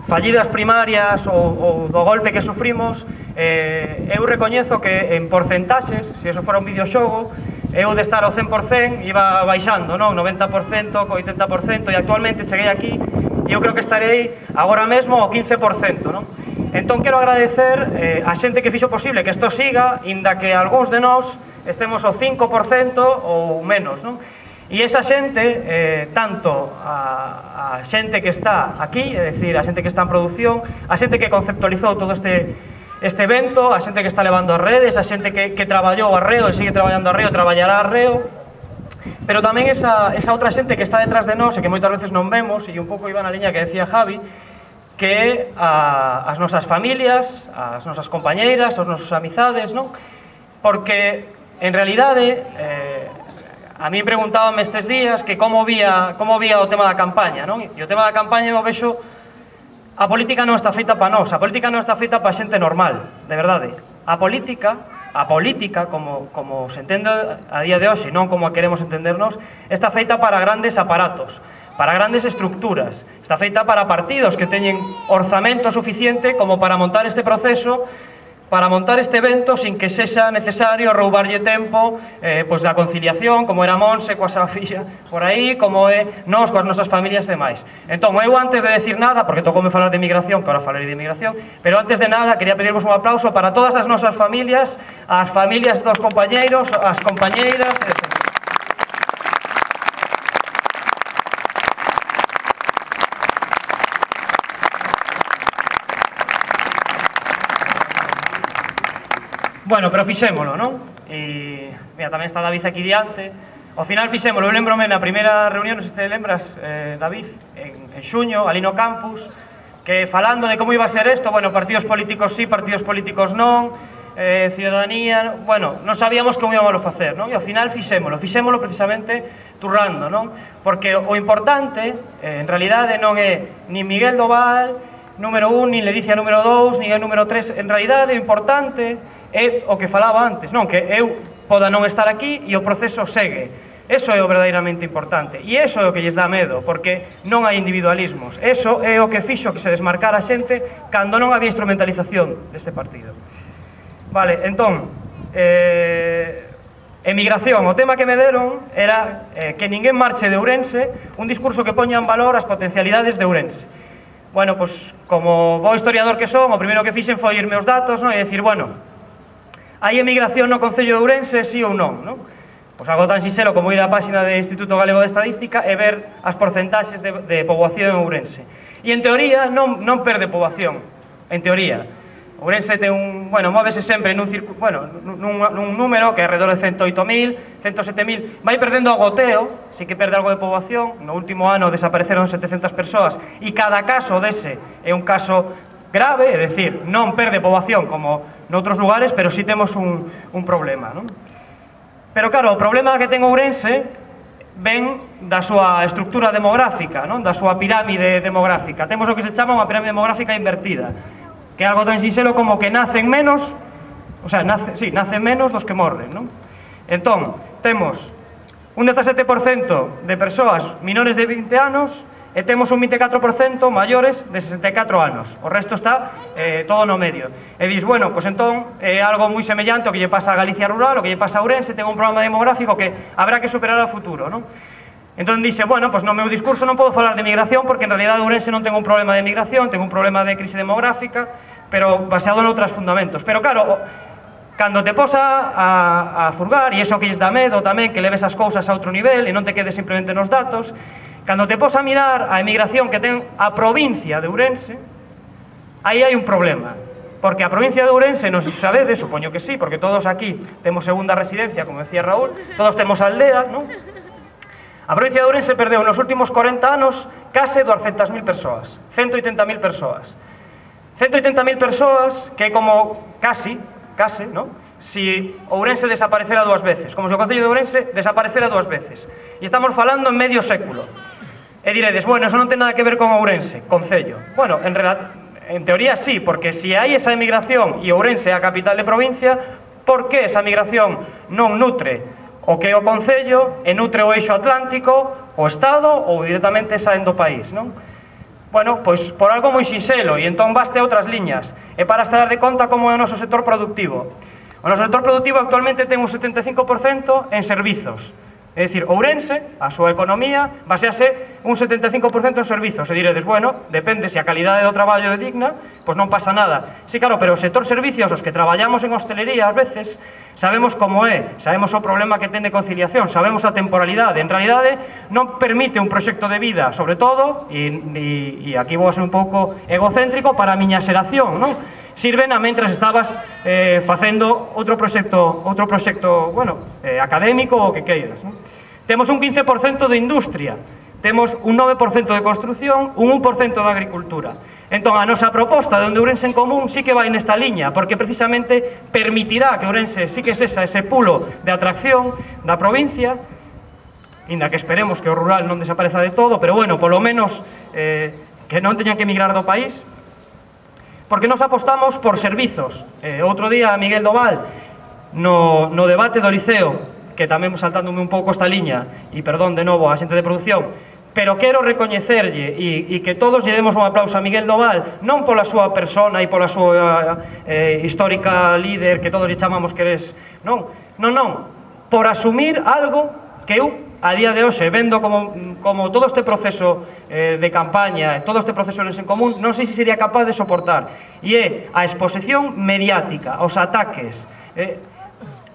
fallidas primarias ou, ou do golpe que sufrimos, eh, eu recoñezo que en porcentaxes, se eso fora un videoxogo, eu de estar ao cen por cen iba baixando, non? noventa por cento, oitenta por cento, e actualmente cheguei aquí e eu creo que estarei agora mesmo ao quince por cento, non? Entón quero agradecer eh, a xente que fixo posible que isto siga, inda que algúns de nós estemos ao cinco por cento ou menos, non? E esa xente, eh, tanto a, a xente que está aquí, é dicir, a xente que está en produción, a xente que conceptualizou todo este, este evento, a xente que está levando as redes, a xente que, que traballou a reo e sigue traballando a reo, traballará a reo, pero tamén esa, esa outra xente que está detrás de nós e que moitas veces non vemos, e un pouco iba na liña que decía Javi, que é a, as nosas familias, as nosas compañeiras, as nosas amizades, non? Porque, en realidade, eh, a mí preguntábame estes días que como vía, como vía o tema da campaña, non? E o tema da campaña eu vexo, a política non está feita para nós, a política non está feita para xente normal, de verdade. A política, a política, como, como se entende a día de hoxe, non como a queremos entendernos, está feita para grandes aparatos, para grandes estructuras, está feita para partidos que teñen orzamento suficiente como para montar este proceso, para montar este evento sin que sexa necesario roubarlle tempo eh, pois da conciliación, como era Monse coa súa filla por aí, como é nós coas nosas familias e demais. Entón, eu antes de decir nada, porque tocoume falar de migración, que ahora falarei de migración, pero antes de nada quería pedirvos un aplauso para todas as nosas familias, as familias dos compañeiros, as compañeiras, etcétera. Bueno, pero fixémolo, non? E, mira, tamén está David aquí diante. Ao final fixémolo, eu lembrome na primeira reunión, non sei se te lembras, eh, David, en, en xuño, ali no campus, que falando de como iba a ser isto, bueno, partidos políticos sí, partidos políticos non, eh, ciudadanía, bueno, non sabíamos como íbamos a facer, non? E ao final fixémolo, fixémolo precisamente turrando, non? Porque o importante, eh, en realidade, non é ni Miguel Doval, número un, ni Ledicia número dous, ni el número tres, en realidade o importante é o que falaba antes, non? Que eu poda non estar aquí e o proceso segue. Eso é o verdadeiramente importante. E eso é o que lles dá medo, porque non hai individualismos. Eso é o que fixo que se desmarcara a xente cando non había instrumentalización deste partido. Vale, entón, eh, emigración, o tema que me deron era eh, que ninguén marche de Ourense, un discurso que poña en valor as potencialidades de Ourense. Bueno, pois, como bo historiador que son, o primeiro que fixen foi irme os datos, non? E dicir, bueno, hai emigración no Concello de Ourense, sí ou non, non? Pois algo tan sinxelo como ir á páxina do Instituto Galego de Estadística e ver as porcentaxes de, de poboación en Ourense. E en teoría non, non perde poboación, en teoría. Ourense ten un, bueno, móvese sempre nun, circu, bueno, nun, nun número que é alrededor de cento oito mil, cento sete mil, vai perdendo o goteo, sí que perde algo de poboación, no último ano desapareceron setecentas persoas, e cada caso dese é un caso grave, é dicir, non perde poboación como noutros lugares, pero sí temos un, un problema, non? Pero claro, o problema que ten Ourense ven da súa estructura demográfica, non? Da súa pirámide demográfica. Temos o que se chama unha pirámide demográfica invertida, que é algo tan sinxelo como que nacen menos, o sea, nace, sí, nacen menos dos que morren, non? Entón, temos un dezasete por cento de persoas menores de vinte anos e temos un vinte e catro por cento maiores de sesenta e catro anos. O resto está eh, todo no medio. E dis, bueno, pois entón é algo moi semellante ao que lle pasa a Galicia rural, o que lle pasa a Ourense, ten un problema demográfico que habrá que superar ao futuro, non? Entón dixe, bueno, pois no meu discurso non podo falar de migración porque en realidad Ourense non ten un problema de migración, ten un problema de crise demográfica, pero baseado en outros fundamentos. Pero claro, cando te posa a, a furgar, e iso que lles dá medo tamén, que leves as cousas a outro nivel e non te quedes simplemente nos datos, cando te posa a mirar a emigración que ten a provincia de Ourense, aí hai un problema. Porque a provincia de Ourense, non se sabedes, supoño que sí, porque todos aquí temos segunda residencia, como decía Raúl, todos temos aldeas, non? A provincia de Ourense perdeu nos últimos corenta anos case doscientas mil persoas, ciento oitenta mil persoas. ciento oitenta mil persoas que é como casi, case, non? Si Ourense desaparecera dúas veces, como se o Concello de Ourense desaparecera dúas veces. E estamos falando en medio século. E diredes, bueno, eso non ten nada que ver con Ourense, Concello. Bueno, en, real, En teoría sí, porque se hai esa emigración e Ourense é a capital de provincia, por que esa migración non nutre o que é o Concello e nutre o eixo atlántico, o Estado ou directamente saen do país, non? Bueno, pois por algo moi sinxelo, e entón baste outras liñas, e para estar de conta como é o noso sector productivo. O noso sector productivo actualmente ten un setenta e cinco por cento en servizos. É dicir, Ourense, a súa economía, basease un setenta e cinco por cento en servizos. E diredes, bueno, depende se a calidade do traballo é digna, pois non pasa nada. Sí, claro, pero o sector servicios, os que traballamos en hostelería, ás veces, sabemos como é, sabemos o problema que ten de conciliación, sabemos a temporalidade. En realidade, non permite un proxecto de vida, sobre todo, e, e, e aquí vou a ser un pouco egocéntrico, para a miña xeración, non? Sirven a mentras estabas eh, facendo outro proxecto, outro proxecto, bueno, eh, académico ou que queiras, non? Temos un quince por cento de industria, temos un nove por cento de construción, un un por cento de agricultura. Entón, a nosa proposta de onde Ourense en Común sí que vai nesta liña, porque precisamente permitirá que Ourense sí que sexa ese pulo de atracción da provincia, inda que esperemos que o rural non desapareza de todo, pero bueno, polo menos eh, que non teñan que emigrar do país, porque nos apostamos por servizos. Eh, outro día, Miguel Doval, no, no debate do Liceo, que tamén saltándome un pouco esta liña, e perdón de novo a xente de produción, pero quero recoñecerlle e, e que todos lle demos un aplauso a Miguel Doval, non pola súa persona e pola súa eh, histórica líder que todos lle chamamos que eres, non, non, non, por asumir algo que eu a día de hoxe, vendo como, como todo este proceso eh, de campaña, todo este proceso en común, non sei se sería capaz de soportar, e é a exposición mediática, os ataques, eh,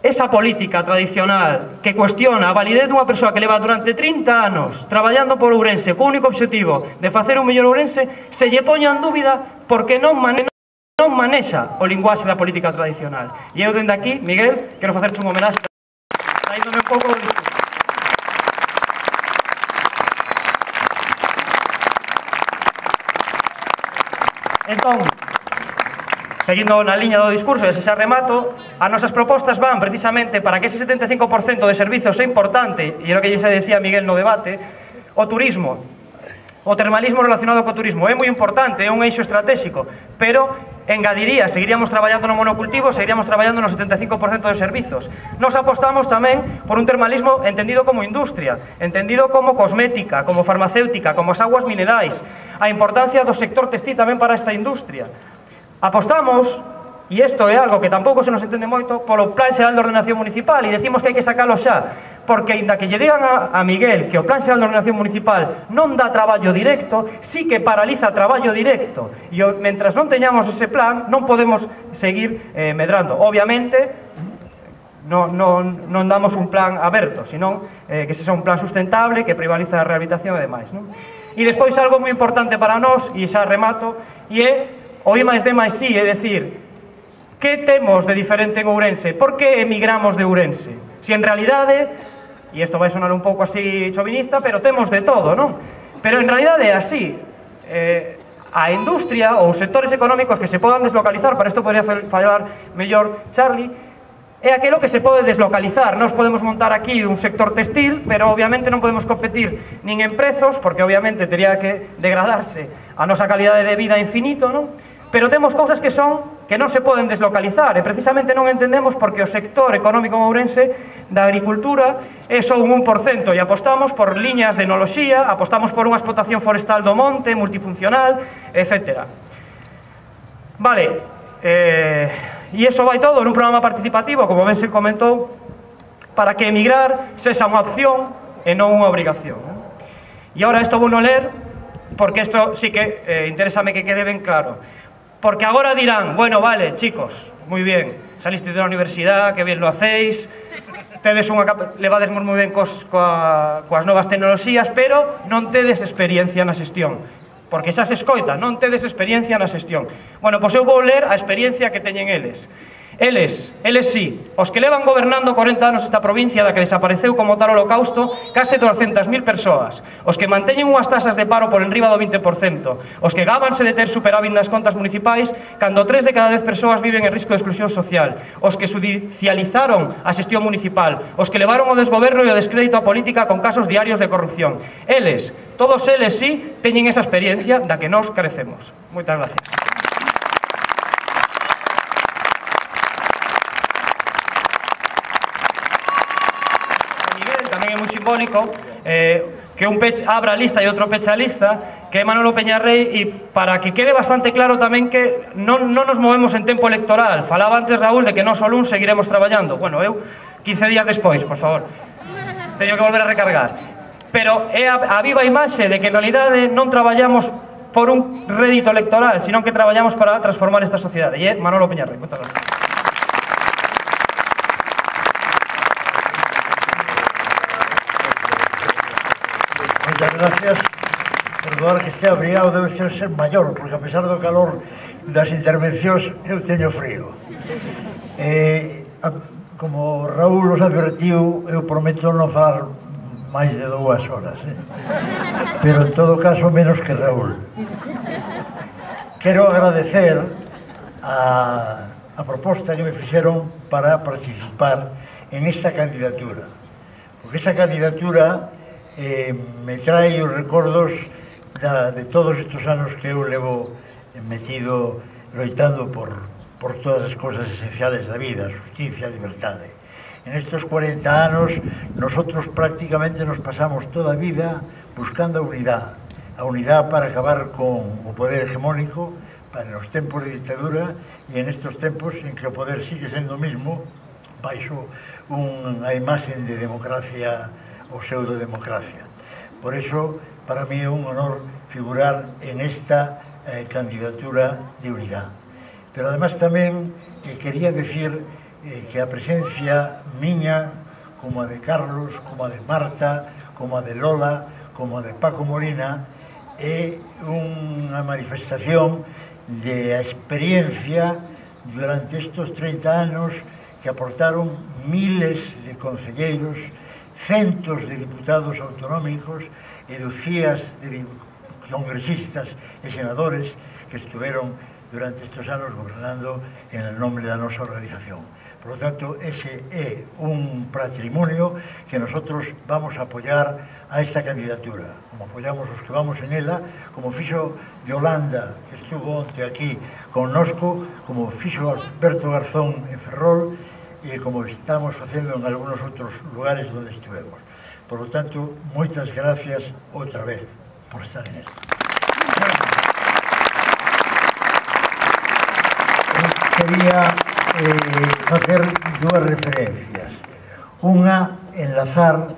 esa política tradicional que cuestiona a validez dunha persoa que leva durante trinta anos traballando por Ourense co único objetivo de facer un mellor Ourense, se lle poña en dúbida porque non manexa, non manexa o linguaxe da política tradicional. E eu dende aquí, Miguel, quero facerche un homenaxe saíndome un pouco do discurso. Entón, seguindo na liña do discurso, e se xa remato, as nosas propostas van precisamente para que ese setenta e cinco por cento de servizos é importante, e é o que xa decía Miguel no debate, o turismo, o termalismo relacionado co turismo, é moi importante, é un eixo estratégico, pero engadiría, seguiríamos traballando no monocultivo, seguiríamos traballando no setenta e cinco por cento de servizos. Nos apostamos tamén por un termalismo entendido como industria, entendido como cosmética, como farmacéutica, como as aguas minerais, a importancia do sector textil tamén para esta industria. Apostamos, e isto é algo que tampouco se nos entende moito, polo Plan Xeral de Ordenación Municipal, e decimos que hai que sacalo xa, porque ainda que lle digan a, a Miguel que o Plan Xeral de Ordenación Municipal non dá traballo directo, sí que paraliza traballo directo, e o, mentras non teñamos ese plan, non podemos seguir eh, medrando. Obviamente, non, non, non damos un plan aberto, senón eh, que sexa un plan sustentable, que privaliza a rehabilitación e demais, non? E despois algo moi importante para nós, e xa remato, e é o I máis D máis I, é dicir, que temos de diferente en Ourense? Por que emigramos de Ourense? Si en realidade, e isto vai sonar un pouco así chovinista, pero temos de todo, non? Pero en realidade é así. Eh, a industria ou sectores económicos que se podan deslocalizar, para isto podría falar mellor Charlie, é aquilo que se pode deslocalizar. Nós podemos montar aquí un sector textil, pero obviamente non podemos competir nin en prezos, porque obviamente teria que degradarse a nosa calidade de vida infinito, non? Pero temos cousas que son que non se poden deslocalizar, e precisamente non entendemos porque o sector económico en Ourense da agricultura é só un un por cento, e apostamos por liñas de enoloxía, apostamos por unha explotación forestal do monte, multifuncional, etcétera. Vale, eh, e iso vai todo nun programa participativo, como ben se comentou, para que emigrar sexa unha opción e non unha obrigación. E agora isto vou non ler, porque isto sí que eh, interésame que quede ben claro. Porque agora dirán, bueno, vale, chicos, moi bien, salisteis da universidade, que bien lo hacéis, tedes unha levades moi ben cos, coa, coas novas tecnoloxías, pero non tedes experiencia na xestión. Porque xa se escoita, non tedes experiencia na xestión. Bueno, pois eu vou ler a experiencia que teñen eles. Eles, eles sí, os que levan gobernando corenta anos esta provincia da que desapareceu como tal holocausto case doscientas mil persoas, os que manteñen unhas tasas de paro por enriba do vinte por cento, os que gábanse de ter superávit nas contas municipais cando tres de cada dez persoas viven en risco de exclusión social, os que judicializaron a xestión municipal, os que levaron o desgoberno e o descrédito á política con casos diarios de corrupción. Eles, todos eles sí, teñen esa experiencia da que nós carecemos. Moitas gracias. simbólico, eh, que un pech abra lista e outro pecha lista, que é Manolo Peñarrei, e para que quede bastante claro tamén que non, non nos movemos en tempo electoral. Falaba antes Raúl de que nós o luns seguiremos traballando. Bueno, eu quince días despois, por favor. Teño que volver a recargar. Pero é a, a viva imaxe de que en realidade non traballamos por un rédito electoral, sino que traballamos para transformar esta sociedade. E é Manolo Peñarrei. Moitas gracias. Moitas gracias. Perdoar que este abrigado debe ser ser maior, porque a pesar do calor das intervencións eu teño frío. Eh, a, como Raúl os advertiu, eu prometo non falar máis de dúas horas, eh? Pero en todo caso menos que Raúl. Quero agradecer a, a proposta que me fixeron para participar en esta candidatura, porque esta candidatura eh, me trae os recordos da, de todos estes anos que eu levo metido loitando por, por todas as cousas esenciales da vida, justicia e liberdade. En estes cuarenta anos, nosotros prácticamente nos pasamos toda a vida buscando a unidade. A unidade para acabar con o poder hegemónico, para os tempos de ditadura, e en estes tempos en que o poder sigue sendo o mismo, baixo unha imaxen de democracia ou pseudodemocracia. Por eso, para mí é un honor figurar en esta eh, candidatura de unidade. Pero además tamén eh, quería decir eh, que a presencia miña, como a de Carlos, como a de Marta, como a de Lola, como a de Paco Molina, é unha manifestación de a experiencia durante estes trinta anos que aportaron miles de concelleiros, centos de diputados autonómicos e dúcias de congresistas e senadores que estuveron durante estes anos gobernando en el nombre da nosa organización. Por lo tanto, ese é un patrimonio que nosotros vamos a apoyar a esta candidatura, como apoyamos os que vamos en ela, como fixo Yolanda, que estuvo onte aquí connosco, como fixo Alberto Garzón en Ferrol, e como estamos facendo en algunos outros lugares onde estivemos. Por lo tanto, moitas gracias outra vez por estar en esto. Quería eh, facer dúas referencias. Unha, enlazar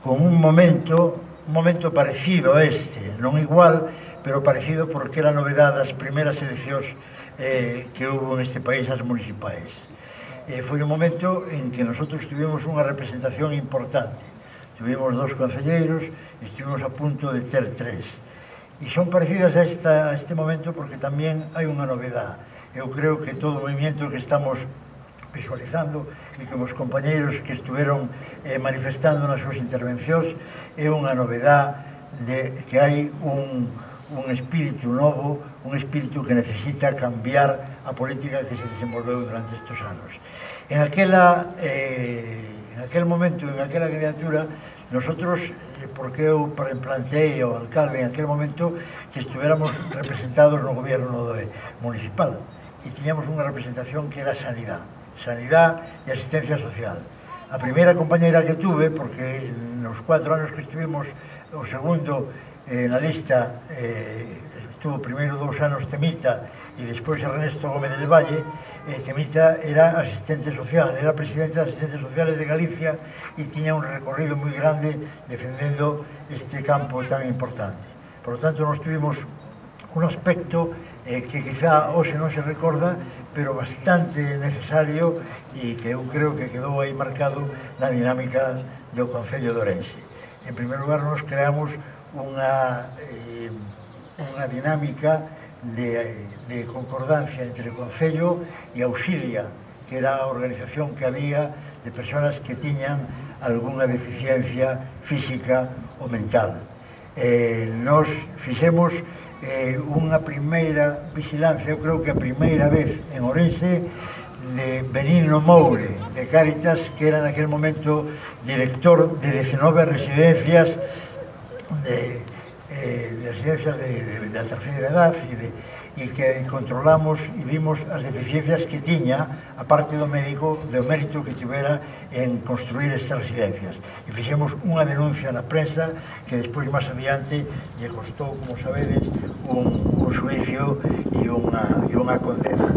con un momento, un momento parecido a este, non igual, pero parecido porque era novedade das primeiras eleccións eh, que hubo en este país, as municipais. Eh, foi un momento en que nosotros tuvimos unha representación importante. Tuvimos dos concelleiros e estivemos a punto de ter tres. E son parecidas a, esta, a este momento porque tamén hai unha novedade. Eu creo que todo o movimento que estamos visualizando e que os compañeiros que estuveron eh, manifestando nas súas intervencións é unha novedade de que hai un, un espírito novo, un espírito que necesita cambiar a política que se desenvolveu durante estes anos. En aquela, eh, en aquel momento, en aquela candidatura, nosotros, eh, porque eu planteei ao alcalde en aquel momento que estuviéramos representados no gobierno de, municipal e tiñamos unha representación que era sanidade, sanidade e asistencia social. A primeira compañeira que tuve, porque nos cuatro anos que estuvimos, o segundo eh, na lista, eh, estuvo primeiro dous anos Temita e despois Ernesto Gómez del Valle. Eh, Temita era asistente social, era presidente das asistentes sociales de Galicia e tiña un recorrido moi grande defendendo este campo tan importante. Por lo tanto, nos tuvimos un aspecto eh, que quizá hoxe non se recorda, pero bastante necesario e que eu creo que quedou aí marcado na dinámica do Concello de Ourense. En primer lugar, nos creamos unha, eh, unha dinámica De, de concordancia entre o Concello e Auxilia, que era a organización que había de persoas que tiñan algunha deficiencia física ou mental. Eh, nos fixemos eh, unha primeira vigilancia, eu creo que a primeira vez en Ourense, de Benigno Moure, de Cáritas, que era naquele momento director de dezenove residencias de... Eh, de residencias de, de, de la tercera edad y de, e que controlamos e vimos as deficiencias que tiña a parte do médico, do mérito que tivera en construir estas residencias. E fixemos unha denuncia na prensa que despois, máis adiante, lle costou, como sabedes, un, un xuicio e unha, e unha condena.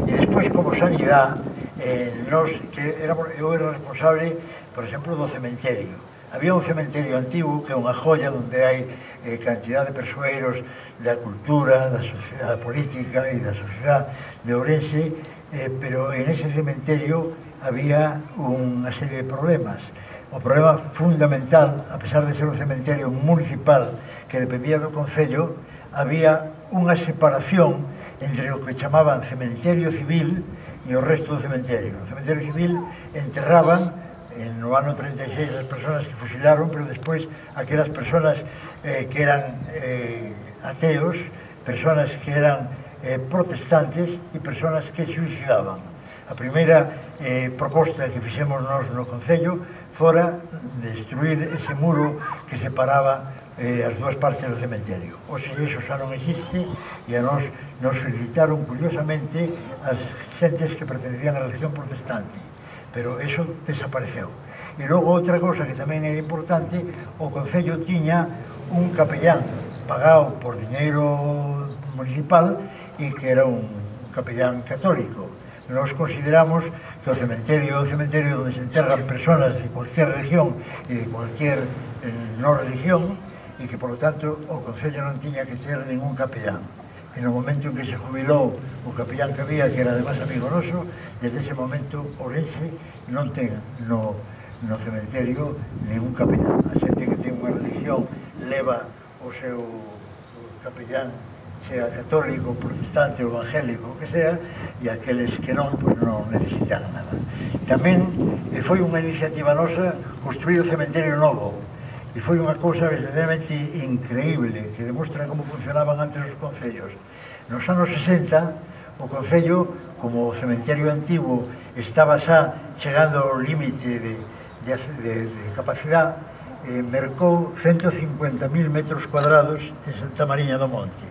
E despois, como sanidade, eh, nos, que éramos, eu era responsable, por exemplo, do cementerio. Había un cementerio antigo que é unha joya onde hai eh, cantidad de persoeiros da cultura, da sociedade política e da sociedade de Ourense, eh, pero en ese cementerio había unha serie de problemas. O problema fundamental, a pesar de ser un cementerio municipal que dependía do Concello, había unha separación entre o que chamaban cementerio civil e o resto do cementerio. O cementerio civil enterraban no ano treinta e seis as persoas que fusilaron, pero despois aquelas persoas eh, que eran eh, ateos, persoas que eran eh, protestantes e persoas que suicidaban. A primeira eh, proposta que fixemos nós no Concello fora destruir ese muro que separaba eh, as dúas partes do cementerio. Oxe, iso xa non existe e a nós nos felicitaron curiosamente as xentes que pertenecían á religión protestante, pero eso desapareceu. E logo outra cosa que tamén é importante, o Concello tiña un capellán pagado por diñeiro municipal e que era un capellán católico. Nos consideramos que o cementerio é o cementerio onde se enterran persoas de cualquier religión e de cualquier eh, no religión e que, por lo tanto, o Concello non tiña que ter ningún capellán. E no momento en que se jubilou o capellán que había, que era además amigo noso, desde ese momento Ourense non ten no, no cementerio ningún capellán. A xente que ten unha religión leva o seu capellán, sea católico, protestante ou evangélico, o que sea, e aqueles que non, pois non necesitan nada. Tamén eh, foi unha iniciativa nosa construir o cementerio novo, e foi unha cousa verdadeiramente increíble, que demostra como funcionaban antes os concellos. Nos anos sesenta, o Concello, como o cementerio antigo estaba xa chegando ao límite de, de, de, de capacidade, eh, mercou ciento cincuenta mil metros cuadrados en Santa Mariña do Monte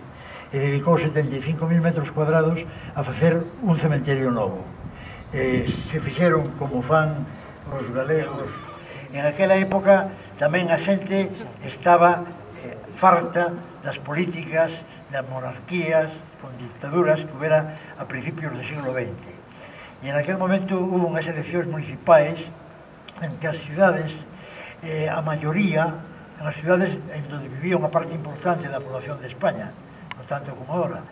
e dedicou setenta e cinco mil metros cuadrados a facer un cementerio novo. Eh, se fixeron como fan os galegos. En aquela época tamén a xente estaba eh, farta das políticas, das monarquías, con dictaduras que houbera a principios do siglo veinte. E en aquel momento hubo unhas eleccións municipais en que as cidades, eh, a maioría, en as cidades en donde vivía unha parte importante da población de España, no tanto como agora,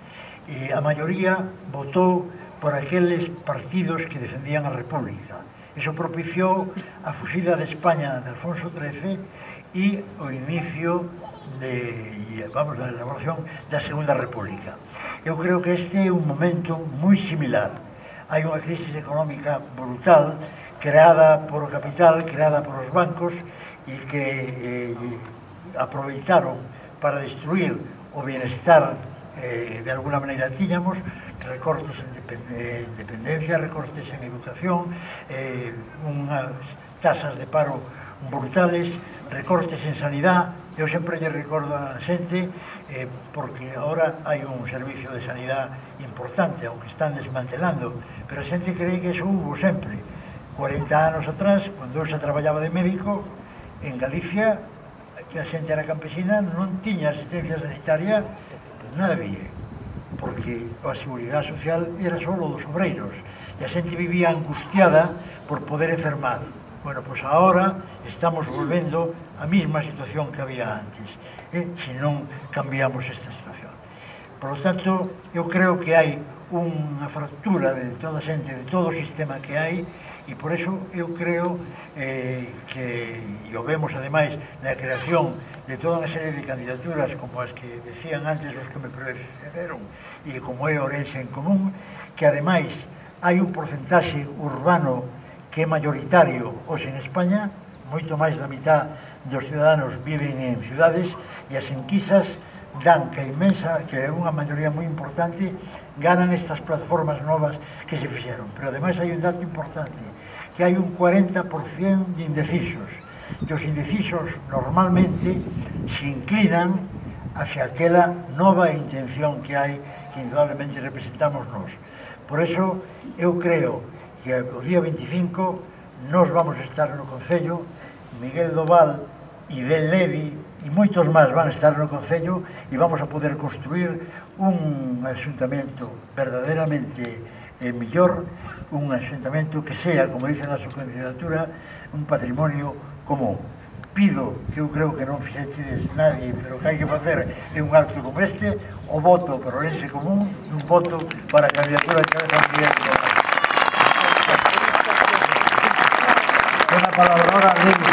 e a maioría votou por aqueles partidos que defendían a República. Iso propiciou a fuxida de España de Alfonso trece e o inicio de, vamos, da elaboración da Segunda República. Eu creo que este é un momento moi similar. Hai unha crisis económica brutal creada por o capital, creada por os bancos e que eh, aproveitaron para destruir o bienestar eh, de alguna maneira tiñamos, recortes en dependencia, recortes en educación, eh, unhas tasas de paro brutales, recortes en sanidade. Eu sempre lle recordo a xente eh, porque agora hai un servicio de sanidade importante, aunque están desmantelando, pero a xente cree que eso hubo sempre. cuarenta anos atrás, cando eu xa traballaba de médico, en Galicia, que a xente era campesina, non tiña asistencia sanitaria nadie, porque a seguridade social era só dos obreiros, e a xente vivía angustiada por poder enfermar. Bueno, pois agora estamos volvendo a mesma situación que había antes, eh, se non cambiamos esta situación. Por lo tanto, eu creo que hai unha fractura de toda a xente, de todo o sistema que hai, e por eso eu creo eh, que, e o vemos ademais na creación de toda unha serie de candidaturas como as que decían antes os que me precederon, e como é Ourense en Común, que ademais hai un porcentaxe urbano que é mayoritario hoxe en España, moito máis da mitad dos ciudadanos viven en ciudades, e as enquisas dan que a inmensa, que é unha maioría moi importante, ganan estas plataformas novas que se fixeron. Pero ademais hai un dato importante, que hai un cuarenta por cento de indecisos, e os indecisos normalmente se inclinan hacia aquela nova intención que hai, que que indudablemente representamos nós. Por eso, eu creo que o día veinticinco nós vamos estar no Concello, Miguel Doval e Ben Levi e moitos máis van estar no Concello e vamos a poder construir un asuntamento verdadeiramente eh, mellor, un asuntamento que sea, como dice na súa candidatura, un patrimonio común. Pido, que eu creo que non fixetes nadie, pero que hai que facer é un acto como este, o voto por Ourense Común, un voto para a candidatura de cabeza de Miguel Doval. Ten a palabra ahora a Levi.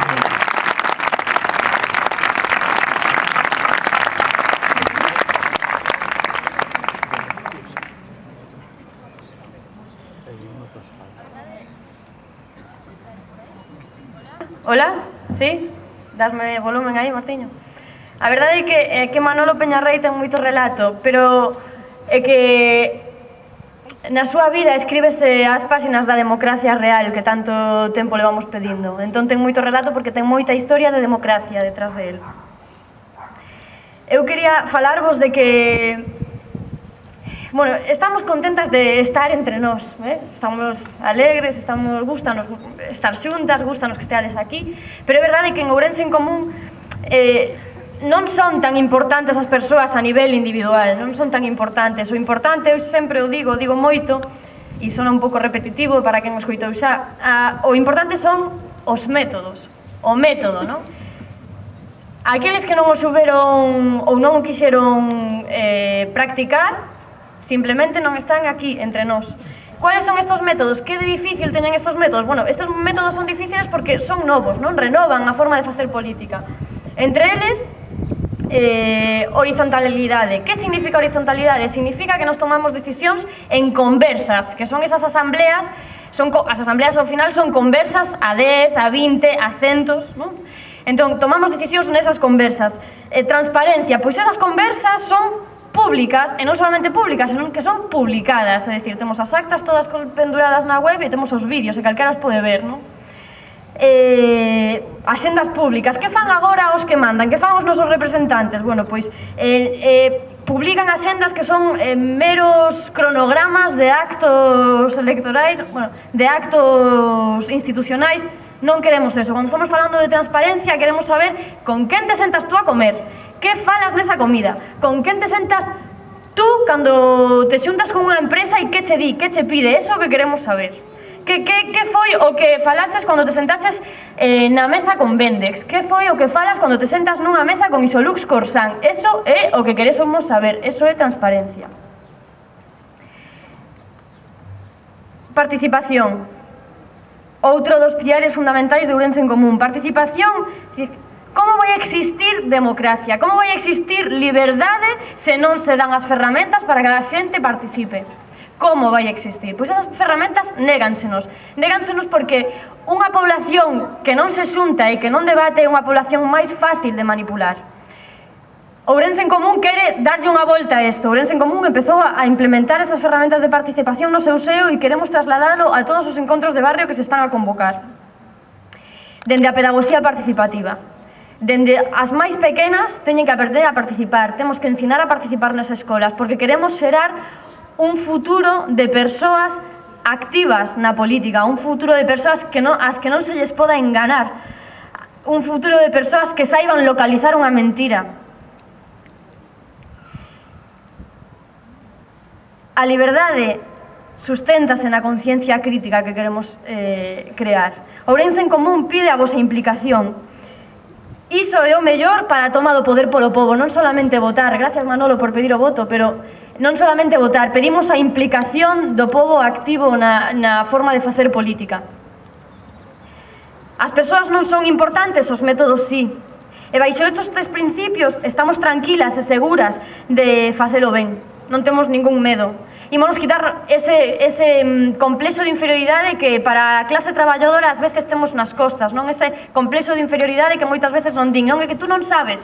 Hola, sí? Dasme volumen aí, Martiño. A verdade é que, é que Manolo Peñarrei ten moito relato, pero é que na súa vida escríbese as páxinas da democracia real que tanto tempo levamos pedindo. Entón ten moito relato porque ten moita historia de democracia detrás de él. Eu quería falarvos de que bueno, estamos contentas de estar entre nós, eh? Estamos alegres, estamos, gustanos estar xuntas, gustanos que esteades aquí, pero é verdade que en Ourense en Común eh, non son tan importantes as persoas a nivel individual, non son tan importantes. O importante, eu sempre o digo, digo moito, e sona un pouco repetitivo para quen o escoitou xa, a, o importante son os métodos, o método, non? Aqueles que non o souberon ou non o quixeron eh, practicar, simplemente non están aquí entre nós. Cuáles son estos métodos? Que de difícil teñen estos métodos? Bueno, estes métodos son difíciles porque son novos, non? Renovan a forma de facer política. Entre eles, eh, horizontalidade. Que significa horizontalidade? Significa que nos tomamos decisións en conversas, que son esas asambleas, son, as asambleas ao final son conversas a dez, a vinte, a centos, non? Entón, tomamos decisións nesas conversas. Eh, transparencia, pois esas conversas son públicas, e non solamente públicas, senón que son publicadas, é dicir, temos as actas todas penduradas na web e temos os vídeos, e calquera as pode ver, non? Eh, axendas públicas, que fan agora os que mandan, que fan os nosos representantes? Bueno, pois, eh, eh, publican axendas que son eh, meros cronogramas de actos electorais, bueno, de actos institucionais. Non queremos eso. Cando estamos falando de transparencia, queremos saber con quen te sentas tú a comer, que falas nesa comida, con quen te sentas tú cando te xuntas con unha empresa e que che di, que che pide, eso que queremos saber. Que, que, que foi o que falaches cando te sentaches eh, na mesa con Vendex? Que foi o que falas cando te sentas nunha mesa con Isolux Corsan? Eso é o que queremos saber, eso é transparencia. Participación. Outro dos pilares fundamentais de Ourense en Común. Participación. Como vai existir democracia? Como vai existir liberdade se non se dan as ferramentas para que a xente participe? Como vai existir? Pois esas ferramentas négansenos. Négansenos porque unha población que non se xunta e que non debate é unha población máis fácil de manipular. Ourense en Común quere darlle unha volta a isto. Ourense en Común empezou a implementar esas ferramentas de participación no seu seo e queremos trasladalo a todos os encontros de barrio que se están a convocar. Dende a pedagogía participativa. Dende as máis pequenas teñen que aprender a participar. Temos que ensinar a participar nas escolas porque queremos xerar un futuro de persoas activas na política, un futuro de persoas que non, as que non se lles poda enganar, un futuro de persoas que saiban localizar unha mentira. A liberdade susténtase na conciencia crítica que queremos eh, crear. Ourense en Común pide a vosa implicación. Iso é o mellor para a toma do poder polo pobo, non solamente votar. Gracias, Manolo, por pedir o voto, pero non solamente votar, pedimos a implicación do pobo activo na, na forma de facer política. As persoas non son importantes, os métodos sí. E baixo estes tres principios estamos tranquilas e seguras de facelo ben. Non temos ningún medo. Imos quitar ese, ese um, complexo de inferioridade que para a clase traballadora ás veces temos nas costas, non? Ese complexo de inferioridade que moitas veces non din, non? É que tú non sabes,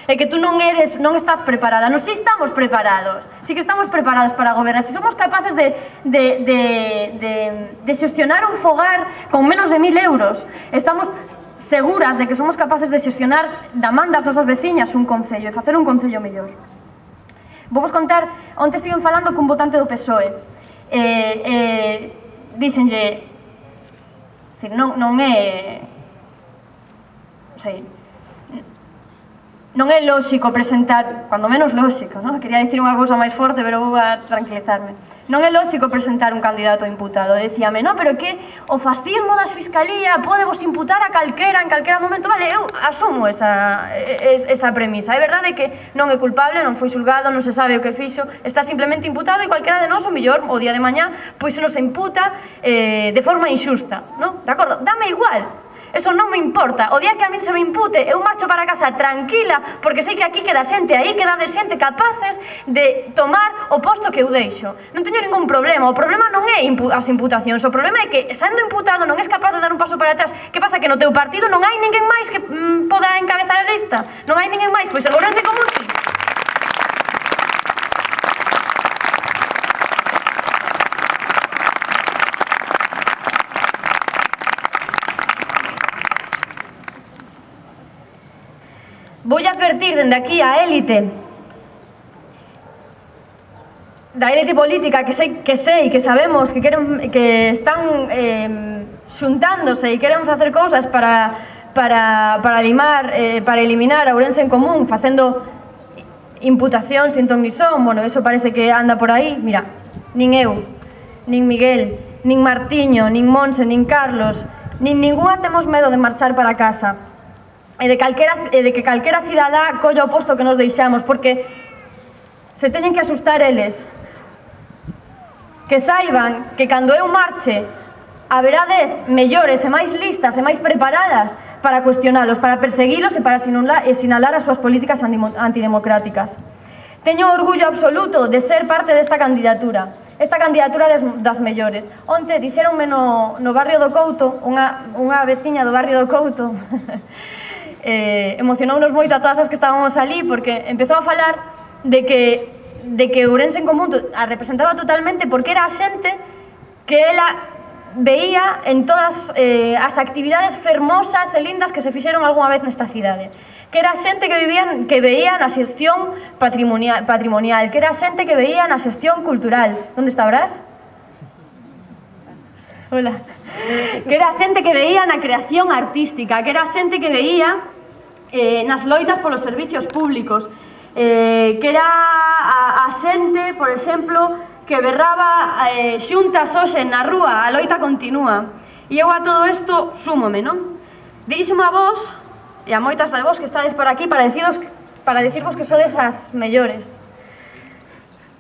é que tú non eres, non estás preparada. Non, si estamos preparados, si que estamos preparados para gobernar, si somos capaces de, de, de, de, de xestionar un fogar con menos de mil euros, estamos seguras de que somos capaces de xestionar da man das nosas veciñas un concello e facer un concello mellor. Vou vos contar, onte estiven falando cun votante do P S O E. Eh, eh, díxenlle, non, non é, non sei, non é lóxico presentar, cando menos lóxico, non? Quería dicir unha cousa máis forte, pero vou a tranquilizarme. Non é lóxico presentar un candidato a imputado. Decíame, non, pero que o fascismo das Fiscalía pode vos imputar a calquera en calquera momento. Vale, eu asumo esa, esa premisa. É verdade que non é culpable, non foi xulgado, non se sabe o que fixo, está simplemente imputado e calquera de nós, o mellor, o día de mañá, pois se nos imputa eh, de forma injusta, non? De acordo? Dame igual. Eso non me importa. O día que a min se me impute, eu marcho para casa tranquila, porque sei que aquí queda xente, aí queda de xente capaces de tomar o posto que eu deixo. Non teño ningún problema. O problema non é impu as imputacións. O problema é que, sendo imputado, non és capaz de dar un paso para atrás. Que pasa? Que no teu partido non hai ninguén máis que mm, poda encabezar a lista. Non hai ninguén máis. Pois en Ourense Común sí. Vou advertir dende aquí a élite da élite política que sei que sei que sabemos que queren que están eh, xuntándose e queren facer cousas para para para limar eh, para eliminar a Ourense en Común facendo imputacións sin ton ni son. Bueno, eso parece que anda por aí. Mira, nin eu, nin Miguel, nin Martiño, nin Monse, nin Carlos, nin ningunha temos medo de marchar para casa. E de, calquera, e de que calquera cidadá colla o posto que nos deixamos, porque se teñen que asustar eles. Que saiban que cando eu marche haberá dez mellores e máis listas e máis preparadas para cuestionalos, para perseguilos e para sinalar, e sinalar as súas políticas antidemocráticas. Teño orgullo absoluto de ser parte desta candidatura, esta candidatura des, das mellores. Onte dixeronme no, no barrio do Couto, unha, unha veciña do barrio do Couto, Eh, emocionounos moito a todas as que estábamos ali, porque empezou a falar de que de que Ourense en Común a representaba totalmente, porque era a xente que ela veía en todas eh, as actividades fermosas e lindas que se fixeron algunha vez nesta cidade, que era a xente que vivían, que veía na xestión patrimonial, patrimonial, que era a xente que veía na xestión cultural. Onde está Brás? Hola. Que era a xente que veía na creación artística, que era a xente que veía eh, nas loitas polos servicios públicos, eh, que era a, a xente, por exemplo, que berraba eh, xuntas hoxe na rúa, a loita continúa. E eu a todo isto súmome, non? Dirixome a vos, e a moitas de vos que estades por aquí, para deciros, para decirvos que sodes as mellores.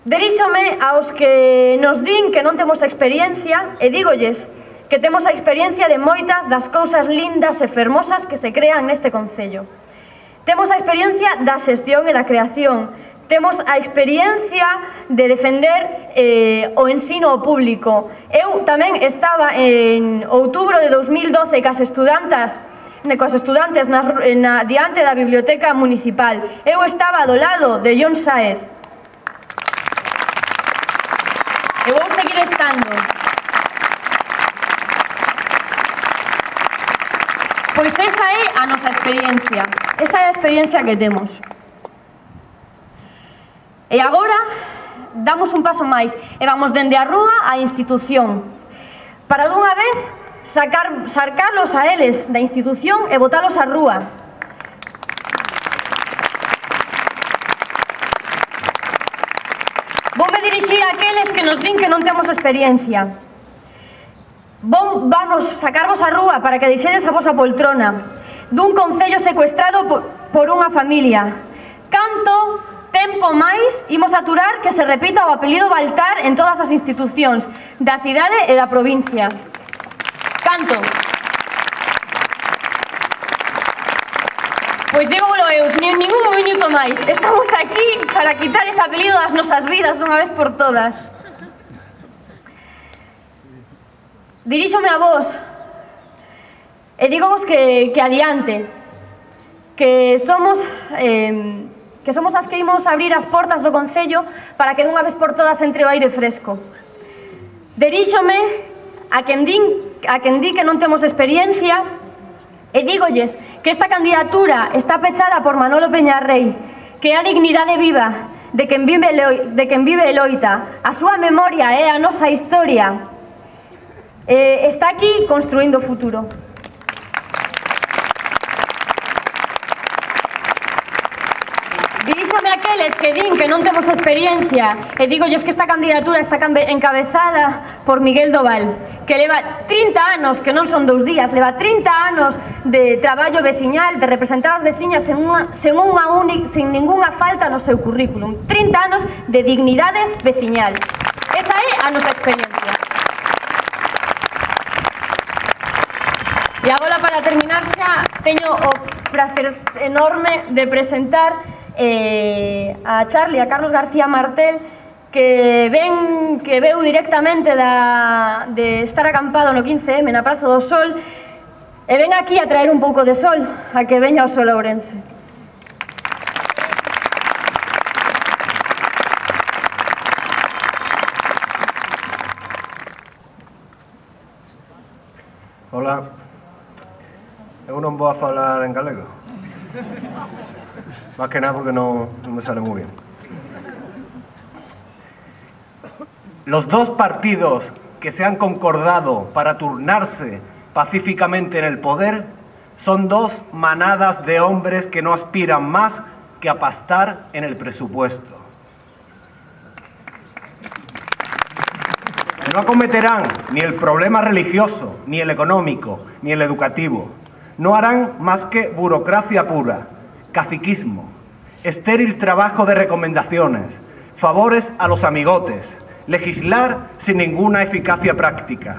Diríxome aos que nos din que non temos experiencia, e dígolles que temos a experiencia de moitas das cousas lindas e fermosas que se crean neste concello. Temos a experiencia da xestión e da creación. Temos a experiencia de defender eh, o ensino público. Eu tamén estaba en outubro de dos mil doce cas estudantas cos estudantes na, na, diante da biblioteca municipal. Eu estaba do lado de Jon Sáez. E vou seguir estando. Pois esa é a nosa experiencia, esa é a experiencia que temos. E agora damos un paso máis e vamos dende a rúa á institución, para dunha vez sacar, sacarlos a eles da institución e botalos á rúa. Voume dirixir a aqueles que nos din que non temos experiencia. Vom, vamos sacarvos á rúa para que deixedes a vosa poltrona dun concello secuestrado por, por unha familia. Canto tempo máis imos aturar que se repita o apelido Baltar en todas as institucións da cidade e da provincia? Canto? Pois dígolo eu, nin ningún minuto máis. Estamos aquí para quitar ese apelido das nosas vidas dunha vez por todas. Diríxome a vos e dígovos que, que adiante, que somos eh, que somos as que imos abrir as portas do concello para que dunha vez por todas entre o aire fresco. Diríxome a quen din, a quen di que non temos experiencia e dígolles que esta candidatura está pechada por Manolo Peñarrei, que é a dignidade viva, de quen vive, de quen vive e loita. A súa memoria é a nosa historia. Eh, está aquí construindo o futuro. Diríxame aqueles que din que non temos experiencia e digolles que esta candidatura está encabezada por Miguel Doval, que leva trinta anos, que non son dous días, leva trinta anos de traballo veciñal, de representar as veciñas sen, unha, sen, unha única, sen ninguna falta no seu currículum. trinta anos de dignidade veciñal. Esa é a nosa experiencia. E agora, para terminar xa, teño o prazer enorme de presentar eh, a Charlie, a Carlos García Martel, que ven que veu directamente da, de estar acampado no quince eme na Praza do Sol e ven aquí a traer un pouco de sol, a que veña o sol a Ourense. Hola, eu non vou a falar en galego. Más que nada porque no, no me sale muy bien. Los dos partidos que se han concordado para turnarse pacíficamente en el poder son dos manadas de hombres que no aspiran más que a pastar en el presupuesto. No acometerán ni el problema religioso, ni el económico, ni el educativo. No harán más que burocracia pura, caciquismo, estéril trabajo de recomendaciones, favores a los amigotes, legislar sin ninguna eficacia práctica.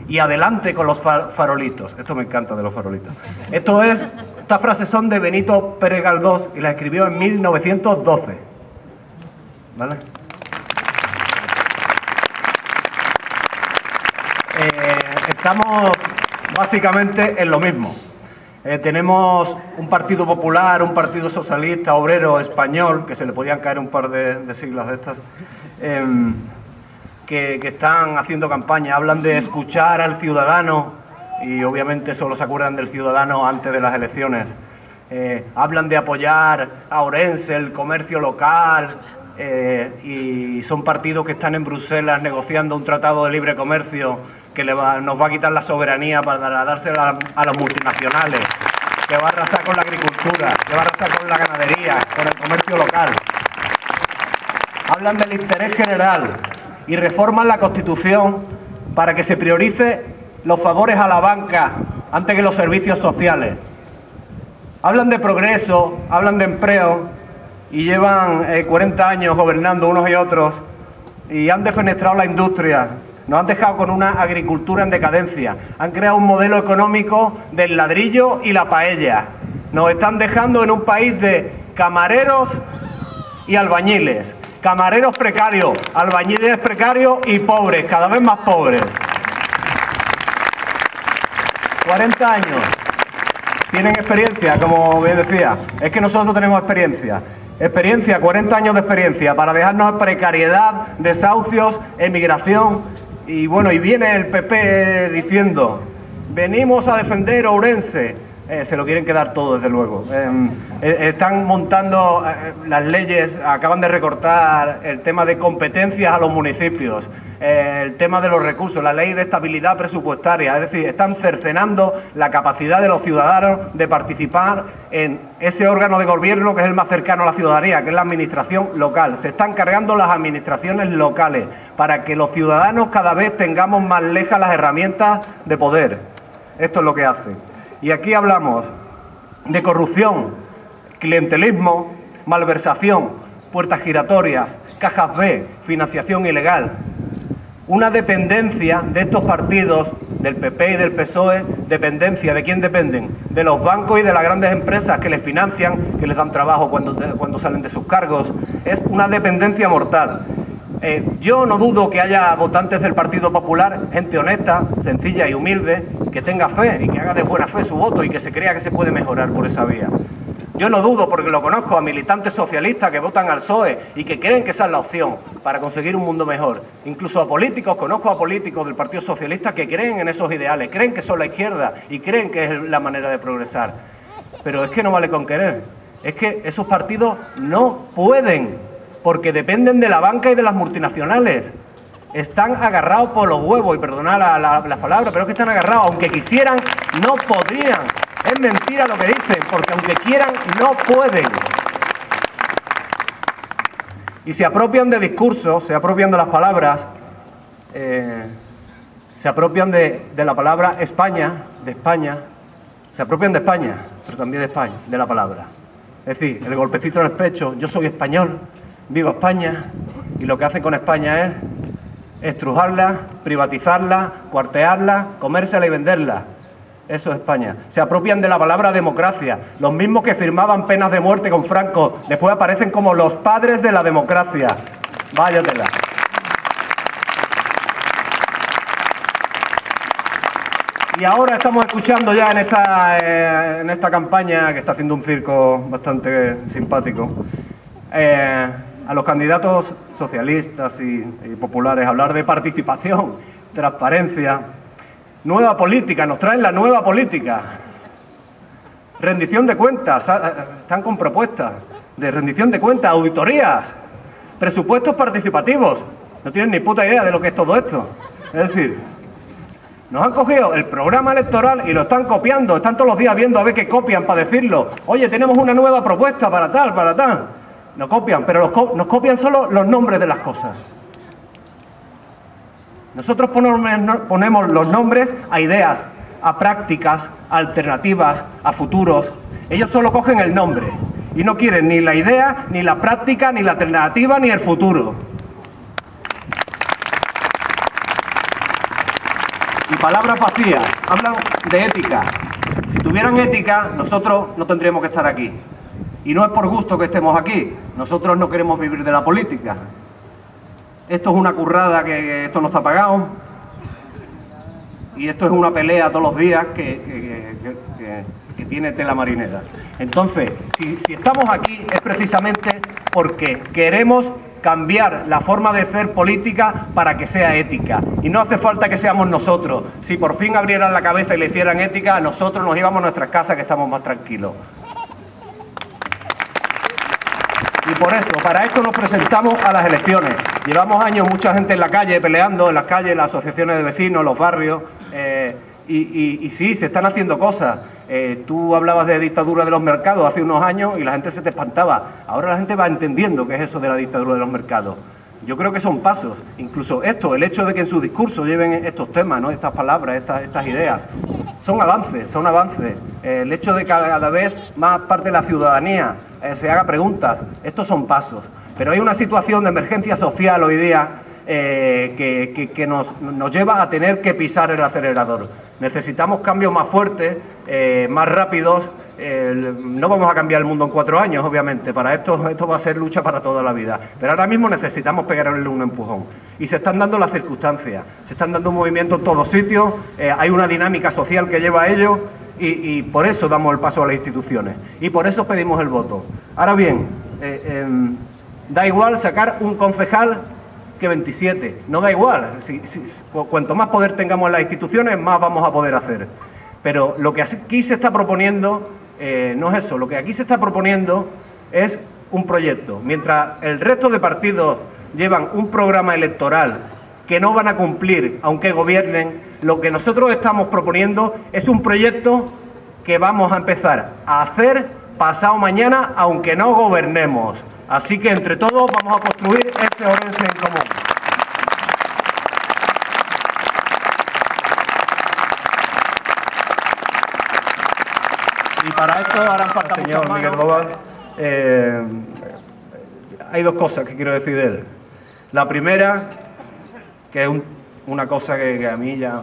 Y adelante con los farolitos. Esto me encanta de los farolitos. Esto es, estas frases son de Benito Pérez Galdós y las escribió en mil novecientos doce. ¿Vale? Eh, estamos básicamente en lo mismo. Eh, tenemos un partido popular, un partido socialista, obrero, español, que se le podían caer un par de, de siglas de estas, eh, que, que están haciendo campaña, hablan de escuchar al ciudadano y obviamente solo se acuerdan del ciudadano antes de las elecciones. Eh, hablan de apoyar a Ourense, el comercio local, eh, y son partidos que están en Bruselas negociando un tratado de libre comercio que le va, nos va a quitar la soberanía para dársela a, a los multinacionales, que va a arrasar con la agricultura, que va a arrasar con la ganadería, con el comercio local. Hablan del interés general y reforman la Constitución para que se priorice los favores a la banca antes que los servicios sociales. Hablan de progreso, hablan de empleo y llevan eh, cuarenta años gobernando unos y otros y han defenestrado la industria. Nos han dejado con una agricultura en decadencia. Han creado un modelo económico del ladrillo y la paella. Nos están dejando en un país de camareros y albañiles. Camareros precarios, albañiles precarios y pobres, cada vez más pobres. cuarenta años. Tienen experiencia, como bien decía. Es que nosotros tenemos experiencia. Experiencia, cuarenta años de experiencia para dejarnos precariedad, desahucios, emigración. Y bueno, y viene el P P diciendo, venimos a defender Ourense. Eh, se lo quieren quedar todo, desde luego. Eh, eh, están montando eh, las leyes, acaban de recortar el tema de competencias a los municipios, eh, el tema de los recursos, la ley de estabilidad presupuestaria. Es decir, están cercenando la capacidad de los ciudadanos de participar en ese órgano de gobierno que es el más cercano a la ciudadanía, que es la administración local. Se están cargando las administraciones locales para que los ciudadanos cada vez tengamos más lejas las herramientas de poder. Esto es lo que hacen. Y aquí hablamos de corrupción, clientelismo, malversación, puertas giratorias, cajas B, financiación ilegal. Una dependencia de estos partidos, del P P y del P S O E, dependencia, ¿de quién dependen? De los bancos y de las grandes empresas que les financian, que les dan trabajo cuando, cuando salen de sus cargos. Es una dependencia mortal. Eh, yo no dudo que haya votantes del Partido Popular, gente honesta, sencilla y humilde, que tenga fe y que haga de buena fe su voto y que se crea que se puede mejorar por esa vía. Yo no dudo, porque lo conozco, a militantes socialistas que votan al P S O E y que creen que esa es la opción para conseguir un mundo mejor. Incluso a políticos, conozco a políticos del Partido Socialista que creen en esos ideales, creen que son la izquierda y creen que es la manera de progresar. Pero es que no vale con querer, es que esos partidos no pueden porque dependen de la banca y de las multinacionales. Están agarrados por los huevos, y perdonad la, la, la palabra, pero es que están agarrados. Aunque quisieran, no podrían. Es mentira lo que dicen, porque aunque quieran, no pueden. Y se apropian de discursos, se apropian de las palabras, eh, se apropian de, de la palabra España, de España, se apropian de España, pero también de España, de la palabra. Es decir, el golpecito en el pecho, yo soy español, vivo España, y lo que hacen con España es estrujarla, privatizarla, cuartearla, comérsela y venderla. Eso es España. Se apropian de la palabra democracia. Los mismos que firmaban penas de muerte con Franco, después aparecen como los padres de la democracia. Váyatela. Y ahora estamos escuchando ya en esta, eh, en esta campaña, que está haciendo un circo bastante simpático, eh, a los candidatos socialistas y, y populares hablar de participación, transparencia, nueva política, nos traen la nueva política, rendición de cuentas, están con propuestas de rendición de cuentas, auditorías, presupuestos participativos, no tienen ni puta idea de lo que es todo esto. Es decir, nos han cogido el programa electoral y lo están copiando, están todos los días viendo a ver qué copian para decirlo. Oye, tenemos una nueva propuesta para tal, para tal. Nos copian, pero los co- nos copian solo los nombres de las cosas. Nosotros ponemos los nombres a ideas, a prácticas, a alternativas, a futuros. Ellos solo cogen el nombre y no quieren ni la idea, ni la práctica, ni la alternativa, ni el futuro. Y palabras vacías, hablan de ética. Si tuvieran ética, nosotros no tendríamos que estar aquí. Y no es por gusto que estemos aquí, nosotros no queremos vivir de la política. Esto es una currada, que, que esto no está pagado, y esto es una pelea todos los días que, que, que, que, que tiene tela marinera. Entonces, si, si estamos aquí es precisamente porque queremos cambiar la forma de hacer política para que sea ética. Y no hace falta que seamos nosotros. Si por fin abrieran la cabeza y le hicieran ética, nosotros nos íbamos a nuestras casas, que estamos más tranquilos. Y por eso, para esto nos presentamos a las elecciones. Llevamos años mucha gente en la calle, peleando en las calles, las asociaciones de vecinos, los barrios, eh, y, y, y sí, se están haciendo cosas. Eh, tú hablabas de dictadura de los mercados hace unos años y la gente se te espantaba. Ahora la gente va entendiendo qué es eso de la dictadura de los mercados. Yo creo que son pasos. Incluso esto, el hecho de que en su discurso lleven estos temas, ¿no?, estas palabras, estas, estas ideas, son avances, son avances. Eh, el hecho de que cada vez más parte de la ciudadanía eh, se haga preguntas, estos son pasos. Pero hay una situación de emergencia social hoy día eh, que, que, que nos, nos lleva a tener que pisar el acelerador. Necesitamos cambios más fuertes, eh, más rápidos. Eh, no vamos a cambiar el mundo en cuatro años, obviamente. Para esto, esto va a ser lucha para toda la vida. Pero ahora mismo necesitamos pegarle un empujón. Y se están dando las circunstancias. Se están dando un movimiento en todos sitios. Eh, hay una dinámica social que lleva a ello. Y, y por eso damos el paso a las instituciones. Y por eso pedimos el voto. Ahora bien, eh, eh, da igual sacar un concejal que veintisiete. No da igual. Si, si, cuanto más poder tengamos en las instituciones, más vamos a poder hacer. Pero lo que aquí se está proponiendo eh, no es eso. Lo que aquí se está proponiendo es un proyecto. Mientras el resto de partidos llevan un programa electoral que no van a cumplir aunque gobiernen, lo que nosotros estamos proponiendo es un proyecto que vamos a empezar a hacer pasado mañana aunque no gobernemos. Así que entre todos vamos a construir este Ourense en común. Y para esto harán falta señor Miguel Doval. Eh, hay dos cosas que quiero decir de él. La primera, que es un, una cosa que, que a mí ya...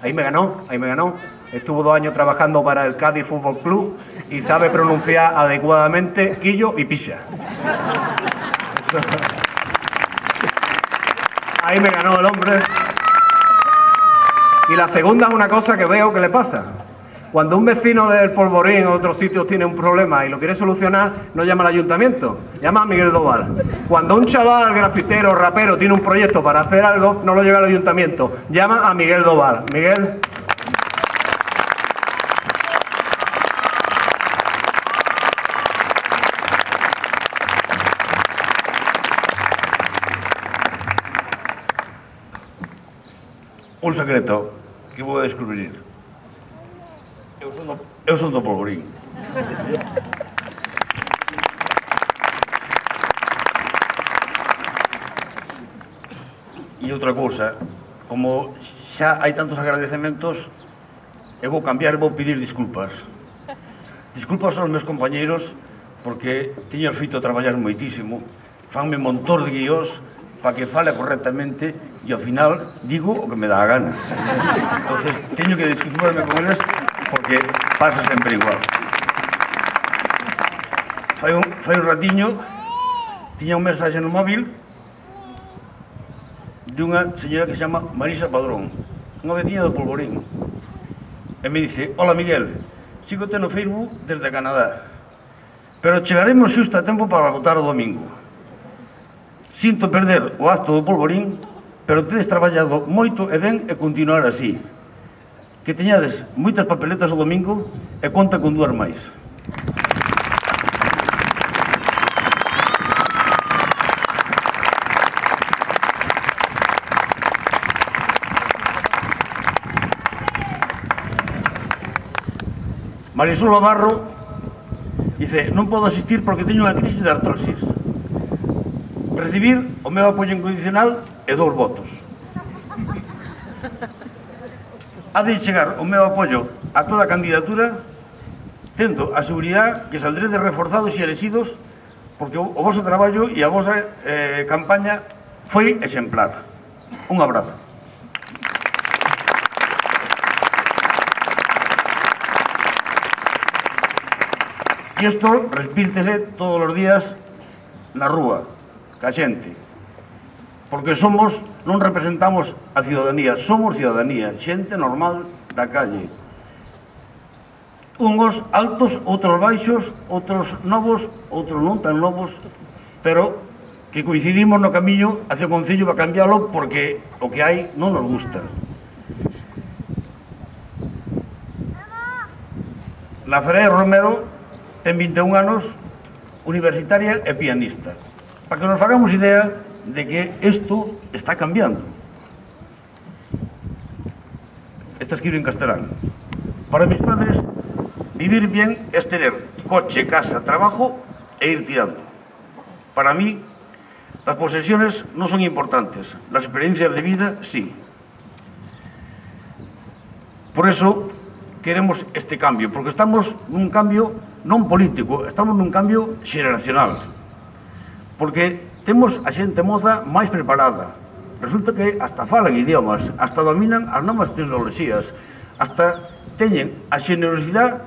Ahí me ganó, ahí me ganó. Estuvo dos años trabajando para el Cádiz Fútbol Club y sabe pronunciar adecuadamente quillo y picha. Ahí me ganó el hombre. Y la segunda es una cosa que veo que le pasa. Cuando un vecino del Polvorín o otros sitios tiene un problema y lo quiere solucionar, no llama al ayuntamiento, llama a Miguel Doval. Cuando un chaval grafitero, rapero, tiene un proyecto para hacer algo, no lo lleva al ayuntamiento, llama a Miguel Doval. Miguel. un secreto que vou a descubrir. Eu son do, eu son do Polvorín. E outra cousa, como xa hai tantos agradecementos, eu vou cambiar e vou pedir disculpas. Disculpas aos meus compañeiros, porque tiño feito traballar moitísimo, fanme un montón de guiós para que fale correctamente e ao final digo o que me dá a gana. Entonces, teño que disculparme con eles porque pasa sempre igual. Fai un, fai un ratiño, tiña un mensaxe no móvil de unha señora que se chama Marisa Padrón, unha veciña do Polvorín, e me dice: hola Miguel, sígote no Facebook desde Canadá, pero chegaremos xusto a tempo para votar o domingo. Sinto perder o acto do Polvorín, pero tedes traballado moito e ben e continuar así. Que teñades moitas papeletas o domingo e conta con dúas máis. Marisol Navarro dice: non podo asistir porque teño unha crisis de artrosis. Recibir o meu apoio incondicional e dous votos. Ha de chegar o meu apoio a toda a candidatura, tendo a seguridade que saldredes reforzados e elegidos, porque o, o vosso traballo e a vosa eh, campaña foi exemplar. Un abrazo. E isto respírtese todos os días na rúa, ca xente, porque somos, non representamos a ciudadanía, somos ciudadanía, xente normal da calle. Unhos altos, outros baixos, outros novos, outros non tan novos, pero que coincidimos no camiño hacia o Concello para cambiálo porque o que hai non nos gusta. La Ferrer Romero ten vinte e un anos, universitaria e pianista. Para que nos fagamos idea de que isto está cambiando. Está escrito en castelán. Para mis padres, vivir bien es tener coche, casa, trabajo e ir tirando. Para mí, las posesiones no son importantes, las experiencias de vida sí. Por eso queremos este cambio, porque estamos nun cambio non político, estamos nun cambio xeracional. Porque temos a xente moza máis preparada. Resulta que hasta falan idiomas, hasta dominan as novas tecnoloxías, hasta teñen a xenerosidade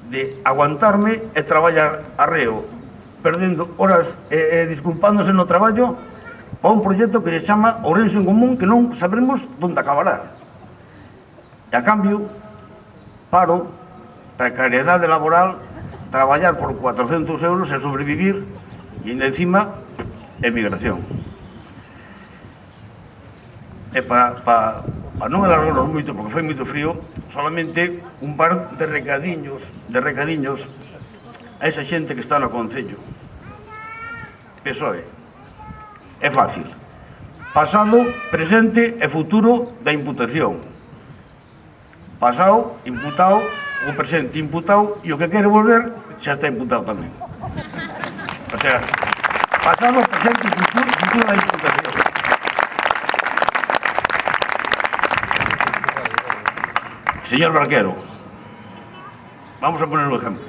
de aguantarme e traballar arreo, perdendo horas e, e disculpándose no traballo para un proxecto que se chama Ourense en Común, que non sabremos onde acabará. E a cambio, paro, precariedade laboral, traballar por cuatrocentos euros e sobrevivir, e ainda encima, emigración. E para pa, pa non alargarnos moito, porque foi moito frío, solamente un par de recadiños, de recadiños a esa xente que está no Concello. P S O E. É fácil. Pasado, presente e futuro da imputación. Pasado, imputado, o presente imputado, e o que quere volver xa está imputado tamén. O sea, pasado, presente e futuro, futuro da imputación. Señor Barquero, vamos a poner un ejemplo.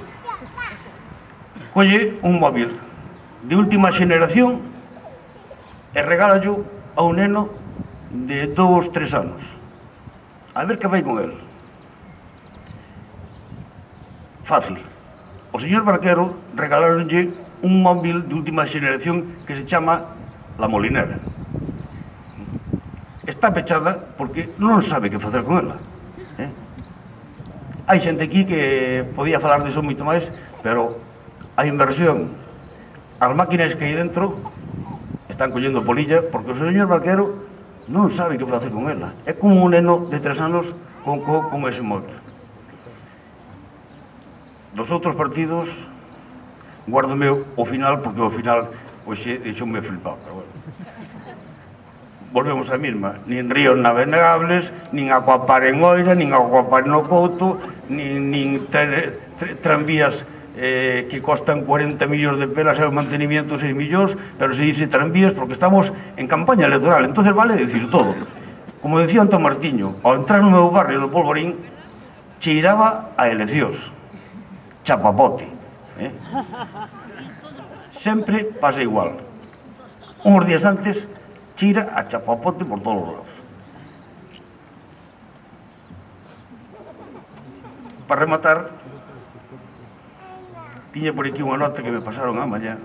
Colle un móvil de última xeneración e regálalo a un neno de dous, tres anos. A ver que vai con el. Fácil. O señor Barquero regalaronlle un móvil de última xeneración que se chama La Molinera. Está pechada porque non sabe que facer con ela. Eh? Hai xente aquí que podía falar diso moito máis, pero a inversión, as máquinas que hai dentro están collendo polilla porque o señor Barquero non sabe que facer con ela. É como un neno de tres anos con, con, con ese móvil. Dos outros partidos guárdome o final porque o final pois deixoume flipado, pero bueno. volvemos a mesma, nin ríos navegables, nin acuapar en Oira, nin acuapar no Couto, nin, nin ter, ter, tranvías eh, que costan cuarenta millóns de pelas e o mantenimiento seis millóns, pero se dice tranvías porque estamos en campaña electoral, entonces vale decir todo. Como decía Antón Martiño, ao entrar no meu barrio do Polvorín, cheiraba a eleccións, chapapote. Eh? Sempre pasa igual. Uns días antes, cheira a chapapote por todos os lados. Para rematar, tiña por aquí unha nota que me pasaron a mañá,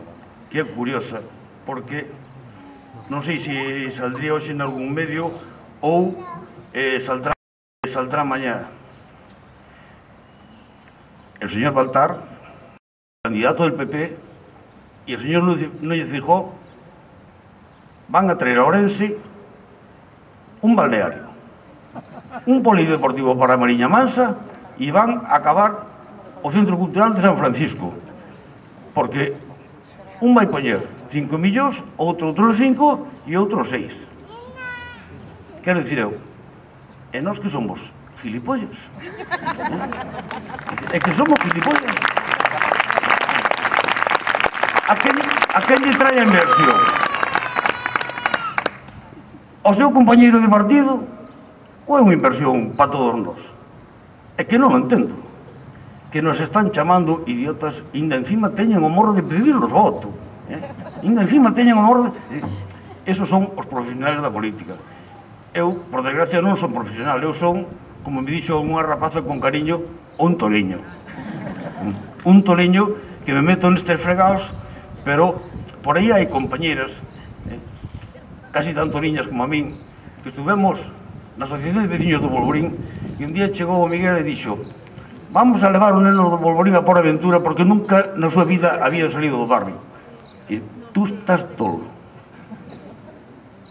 que é curiosa, porque non sei se saldría hoxe en algún medio ou eh, saldrá, saldrá mañá. El señor Baltar, candidato del P P, y el señor Núñez Feijóo van a traer a Ourense un balneario, un polideportivo para Mariña Mansa y van a acabar o Centro Cultural de San Francisco, porque un vai poñer cinco millóns, outro outros cinco e outros seis. Quero dicir eu, e nós que somos gilipollas, é que somos gilipollas. A quen, a quen lle trae a inversión? O seu compañeiro de partido ou é unha inversión para todos nós? É que non o entendo. Que nos están chamando idiotas, e ainda encima teñen o morro de pedir os votos. Eh? Ainda encima teñen o morro de... Eh, esos son os profesionales da política. Eu, por desgracia, non son profesional. Eu son, como me dixo unha rapaza con cariño, un toliño. Un toliño que me meto nestes fregados, pero por aí hai compañeras, eh, casi tanto niñas como a min, que estuvemos na Asociación de Veciños do Polvorín, e un día chegou o Miguel e dixo: vamos a levar o neno do Polvorín a por aventura porque nunca na súa vida había salido do barrio. E tú estás tolo.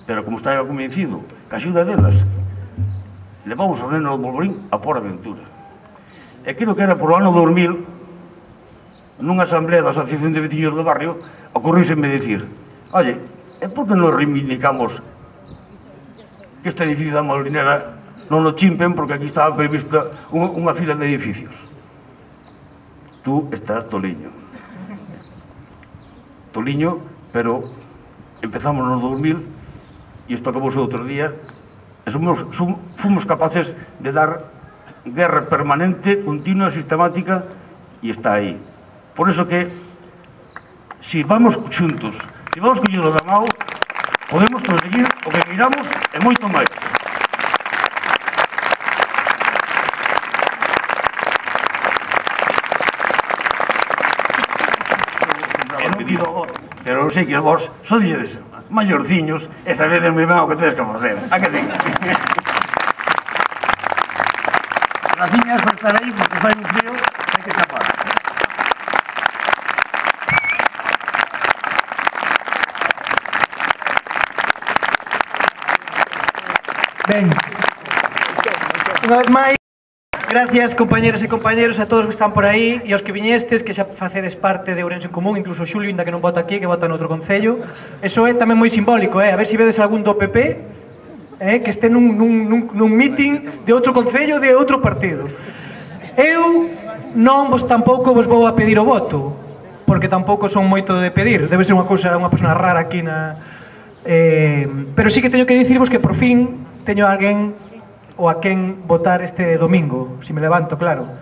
Pero como estaba convencido que a axuda delas, levamos o neno do Polvorín a por aventura. E creo que era por o ano dos mil, nunha asamblea da Asociación de Veciños do Barrio, ocorríseme dicir: oye, é por que nos reivindicamos que este edificio da Molinera non o chimpen porque aquí estaba prevista unha, unha fila de edificios? Tú estás toliño. Toliño, pero empezamos no dos mil e isto acabou outro día e somos, som, fomos capaces de dar guerra permanente, continua, sistemática, e está aí. Por eso que, si vamos xuntos, si vamos collendo da mão, podemos conseguir o que miramos e moito máis. Pero sei que vos sois maiorciños e sabedes moi ben o que tedes que facer. A que ten? Graciñas por estar aí, porque fai un frío, hai que escapar. Ben, unha vez máis, gracias compañeros e compañeros a todos que están por aí e aos que viñestes, que xa facedes parte de Ourense en Común, incluso Xulio, ainda que non vota aquí, que vota noutro concello. Eso é tamén moi simbólico, eh? A ver se vedes algún do P P eh? que este nun, nun, nun, nun meeting de outro concello de outro partido. Eu non vos tampouco vos vou a pedir o voto, porque tampouco son moito de pedir, debe ser unha cousa, unha persona rara aquí na... Eh, pero sí que teño que dicirvos que por fin teño alguén ou a quen votar este domingo, se me levanto, claro.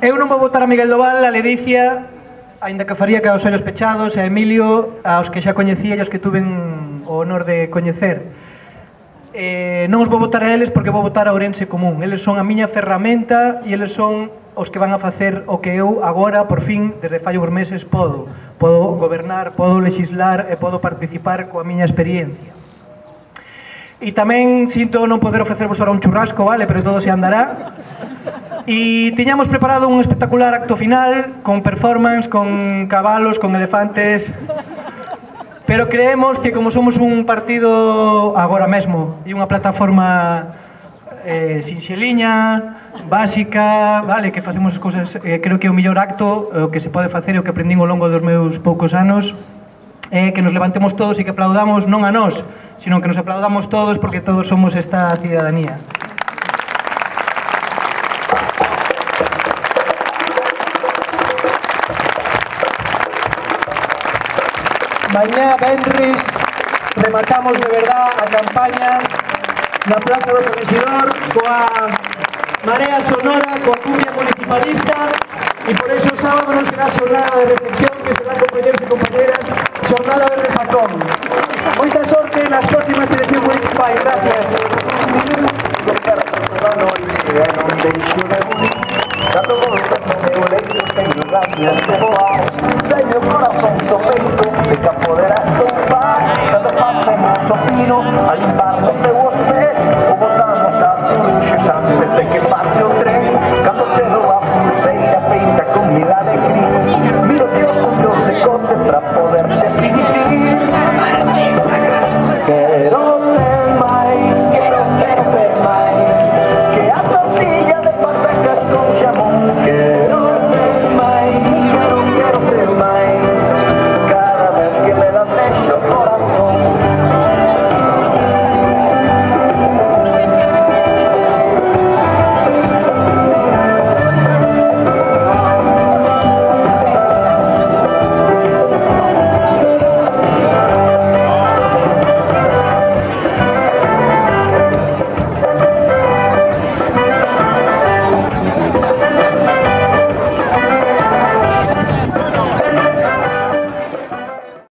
Eu non vou votar a Miguel Doval, a Ledicia, aínda que faría que aos ollos pechados, a Emilio, aos que xa coñecía e aos que tuven o honor de coñecer. Eh, non os vou votar a eles porque vou votar a Ourense Común. Eles son a miña ferramenta e eles son os que van a facer o que eu agora, por fin, desde fai uns meses, podo. Podo gobernar, podo legislar e podo participar coa miña experiencia. E tamén sinto non poder ofrecervos ahora un churrasco, vale, pero todo se andará. E tiñamos preparado un espectacular acto final, con performance, con cabalos, con elefantes. Pero creemos que como somos un partido agora mesmo e unha plataforma eh, sinxeliña, básica, vale, que facemos as cousas, eh, creo que é o mellor acto o que se pode facer e o que aprendín ao longo dos meus poucos anos. é que nos levantemos todos e que aplaudamos non a nós, sino que nos aplaudamos todos porque todos somos esta cidadanía. Mañá, venres, rematamos de verdad a campaña na Plaza do Corregidor coa Marea Sonora, coa cumbia municipalista, e por eso sábado non será xornada de reflexión, que será, compañeros e compañeras, xornada de resacón. Moita sorte nas próximas eleccións municipais. Gracias.